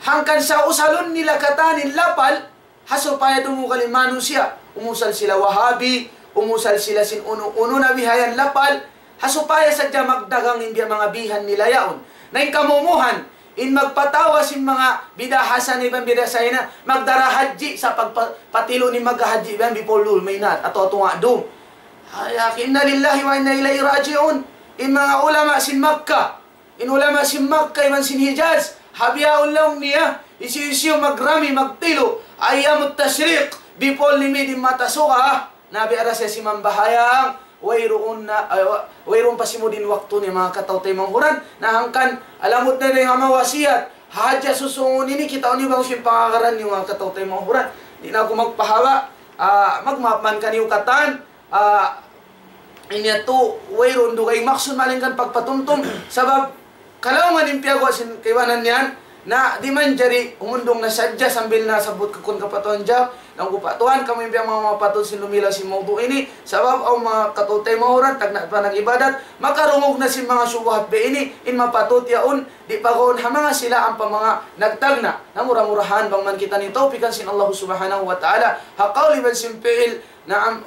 hangkan sa' usalun nila katan in lapal, ha supaya dumugal in manusiya', umusal sila Wahabi, umusal sila sin unu-unu na bihayan lapal, ha supaya sadja magdagang in biya' manga bihan nila yaun. Na in kamumuhan, in magpatawa sin manga bid'ah hasanah iban bid'ah sayyinah, magdara hadji sa' pagpa-, patilu' in maghahadji iban bipulul mainat, atawa tunga' dum. Ay, akhi, إنا لله وإنا إليه راجعون. In manga ulama sin Makkah, in ulama sin Makkah iban sin Hijaz, ha bihaun laung niya, hisiyu-siyu magrami, magtilu', ayyamut tashriq, before limid in mata suga, na biya' da siya simambahayang, wayruun na, ay, wa-, wayruun pa simud in waktu niya manga kataw-taymanghuran, na hangkan, alamud na dayn ha manga wasiyat, ha hadja susungun ini, kitaun niyu bang sin pangagaran niyu manga kataw-taymanghuran. Di' na aku magpahaba', ah, magmaap man kaniyu katan, ah, ini yadtu, wayruun dugaing maksud malaingkan pagpatumtum, sabab kalaungan in piyaguwa' sin kaibanan yan, na di' manjari humundung na sadja sambil nasabbut kakun kapatuan jawab, laung ku pa tuwan, kamu in biya' manga mapatut sin lumilaw sin mawdu' ini, sabab awn manga kataw-taymanghuran, tagna' pa nag-ibadat, makarungug na sin manga subuhat biya' ini, in mapatut yaun, di' pagaun ha manga sila ampa manga nagtagna'. Na mura-murahan bang man kita ini tawpikan sin Allah Subhanahu wa Ta'ala, ha kaul iban sin fi'il, نعم،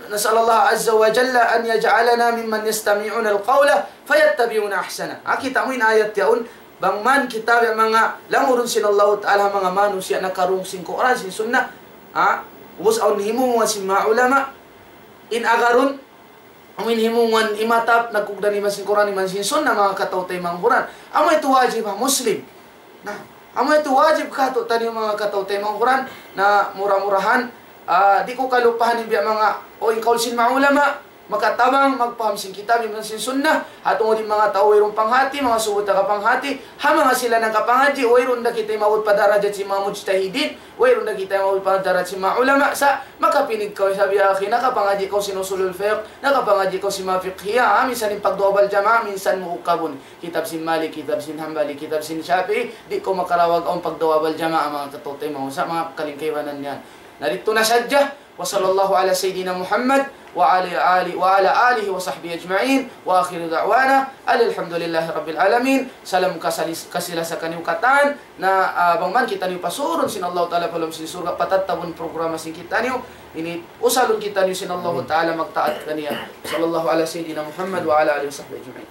نسأل الله عز وجل أن يجعلنا ممن يستمعون القول فيتبعون أحسنه. Ah, kita' mu in ayat yaun, bang man kita biya' manga langurun sin Allahu Ta'ala manga manusiya' nakarungug sin Qur'an, sin Sunnah. Ah, ubus awn himumungan sin manga ulama, in agarun, amu in himumungan imatap, nagkugdan iban sin Qur'an, iban sin Sunnah, manga kataw-taymanghuran. Amu yadtu wajib ha Muslim. Na, amu yadtu wajib kātu'niyu manga kataw-taymanghuran, na mura-murahan, ah, di' ku kalupahan in biya' manga, o in kaul sin manga ulama, makatabang, magpaham sin kitab, iban sin sunnah, ha tungud in manga tau wayruun panghati, manga subut taga panghati, ha manga sila nakapangadji', wayruun da kita imaabut pa darajat sin manga mujtahidin, wayruun da kita imaabut pa darajat sin manga ulama, sa' makapinig kaw isab ya akhi, nakapangadji' kaw sin usulul fiqh, nakapangadji' kaw sin manga fiqhiyah, ah, minsan in pagduwaa wal jamaah, minsan mu ukabun. Kitab sin Malik, kitab sin Hanbali, kitab sin Shafi'i, di' kaw makarawag awn pagduwaa wal jamaah manga kataw-taymanghuran, manga kalingkaibanan yan. Na didtu na sadja, وصلى الله على سيدنا محمد وعلى آله، وعلى آله وصحبه أجمعين. وآخر دعوانا أن الحمد لله رب العالمين. Salam kasali-, kasila sa kaniyu katan, na, ah, bang man kitaniyu pasurun sin Allahu Ta'ala pa lawm sin surga', patattabun programa sin kitaniyu, ini usalun kitaniyu sin Allahu Ta'ala magtaat kaniya. صلى الله على سيدنا محمد وعلى آله وصحبه أجمعين.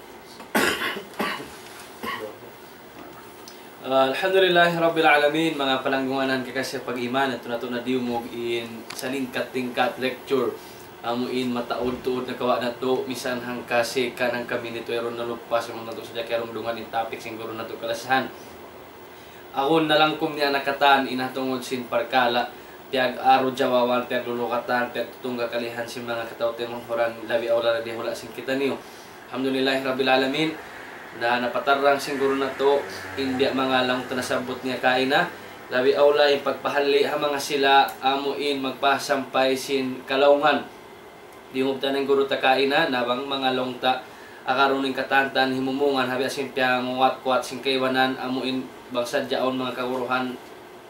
Ah, alhamdulillahi rabbil alamin, manga palanggungan kakasi pag-iman, yadtu natu' na diyungug in salingkat-lingkat lecture. Amu in mataud-tuud na kawa' natu', misan hangka second, hangka minute, wayruun nalupas, amu natu' sadja kiyarungdungan in topic sin guru natu' kalasahan. Awn nalangkum niya na katan in ha tungud sin parkala', piyag-aru jawaban, piyaglulukatan, piyagtutungga kalihan sin manga kataw-taymanghuran, labi awla na dihula sin kitaniyu. Alhamdulillahi Rabbil Alamin, na napatarrang sin guru natu', in biya' manga laung ta nasabbut niya kaina, labi awla in pagpahalli' ha manga sila, amu in magpasampay sin kalaungan. Diyungug ta in guru ta kaina, na bang manga laung ta, agarun in katantan himumungan, ha biya' sin piyanguwat-kuwat sin kaibanan, amu in bang sadja awn manga kaguruhan,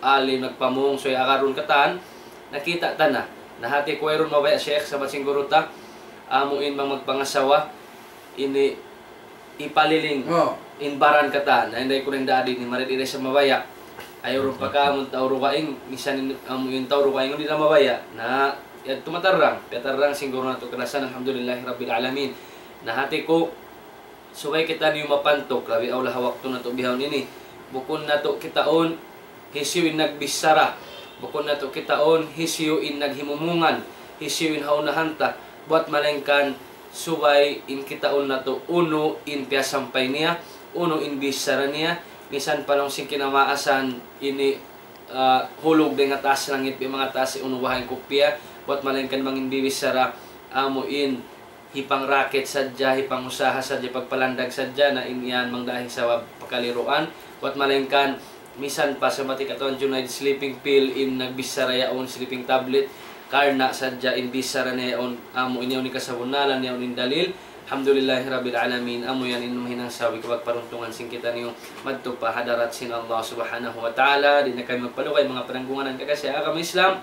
alim nagpamung, subay agarun katan, nakita' ta na. Na hati ku wayruun mabaya', Sheikh, sabab sin guru ta, amu in bang magpangasawa, ini ipaliling Oh. in baran katan. Na, inday ku na in dadi ini, mari di' da isab mabaya'. Ayaw run pa ka, amun tau dugaing, misan in, amu in tau dugaing, di' da mabaya'. Na, yadtu matarrang, piyatarrang sin guru natu' kalasahan, alhamdulillahi rabbil alamin. Na, hati ku, subay kitaniyu mapantuk, labi awla ha waktu natu' bihaun ini. Bukun natu' kitaun, hisiyu in nagbichara. Bukun natu' kitaun, hisiyu in naghimumungan, hisiyu in ha unahan ta. Buwat malaingkan, subay in kitaun natu' unu in piyasampay niya, unu in bichara niya, misan pa laung sin kinamaasan ini, ah, hulug dayn ha taas langit, biya' manga taas unu baha' in kupiya, buwat malaingkan bang in bibichara, amu in hipangrakit sadja, hipangusaha sadja, pagpalandag sadja, na in yan mangdahi sabab pakaliruan. Buwat malaingkan, misan pa sa mati katan Junaid sleeping pill in nagbichara yaun, sleeping tablet, karna' sadja in bichara niya yaun, amu in yaun in kasabunnalan, yaun in dalil. Alhamdulillahi Rabbil Alamin, amu yan in mahinang sabab kabagparuntungan sin kitaniyu madtu pa hadarat sin Allah Subhanahu wa Ta'ala. Di' na kami magpalugay, manga pananggungan kakasi agama Islam.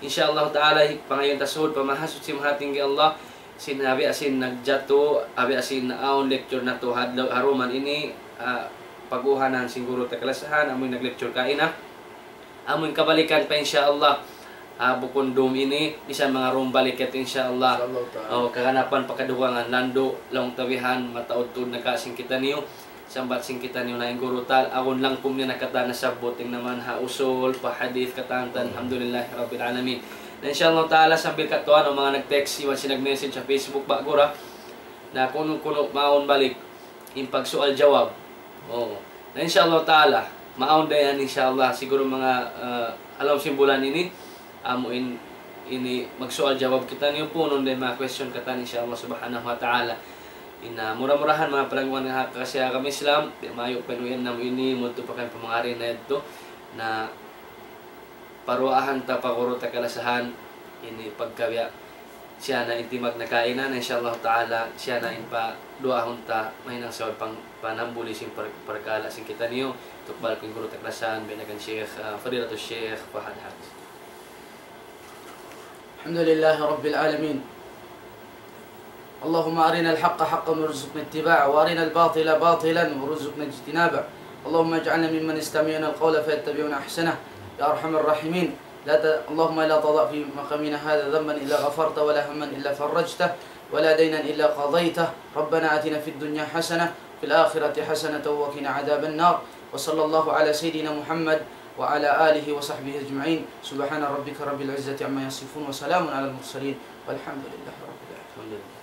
Insya Allah Ta'ala, hi-, pangayuun ta suud pa Mahasuchi Mahatinggi Allah, sin abi asin nagjatu, abi asin awn lecture natu' ha adlaw, ha duman ini, ah, pag-uhanan sin guru ta kalasahan, amu in nag-lecture kaina. Amu in kabalikan pa, insya Allah. Ah, bukun dum ini, bisan manga dum balik yadtu, insya Allah. Insya Allah ta'ala. Oh, kaganapan pa kadugangan, landu', laung ta bihan, mataud-tuud na ka sin kitaniyu. Sambat sin kitaniyu na in guru ta, awn langkum niya na katan nasabbut, in naman ha usul, pa hadith, katan-katan, alhamdulillahi rabbil alamin. Na insya Allah ta'ala, sambil katuan, awn manga nag-text, iban sin nag-message ha Facebook, ba guru, na kunu-kunu mawn balik in pagsual-jawab. Oo. Na insya Allah ta'ala, mawn da yan, insya Allah, siguro manga, ah, ha lawm sin bulan ini, amu in, ini magsual-jawab kitaniyu, punun da in manga question katan, insya Allah subhanahu wa ta'ala. Ina, mura-murahan manga palanggungan ha kakasi agama Islam, di' mayu' pa in uyan namu' ini, mudtu pa kan pamangari na yadtu, na paruwaahan ta pa guru ta kalasahan, ini pagkabiya' siya na in timagna' kaina, na insya Allah ta'ala, siya na in paduwaahun ta, mahinang sabab pang-, panambuli sin par-, parkala' sin kitaniyu, tukbal ku in guru ta kalasahan, biya' na kan Sheikh, ah, Fadilatul Sheikh Fahad Hafiz. الحمد لله رب العالمين. اللهم أرنا الحق حقا وارزقنا اتباعه، وأرنا الباطل باطلا وارزقنا اجتنابه. اللهم اجعلنا ممن يستمعون القول فيتبعون أحسنه، يا أرحم الراحمين. لا ت-، اللهم لا تضع في مقامنا هذا ذنبا إلا غفرته، ولا هما إلا فرجته، ولا دينا إلا قضيته. ربنا آتنا في الدنيا حسنة، وفي الآخرة حسنة، وقنا عذاب النار. وصلى الله على سيدنا محمد وعلى آله وصحبه أجمعين. سبحان ربك رب العزة عما يصفون، وسلام على المرسلين، والحمد لله رب العالمين.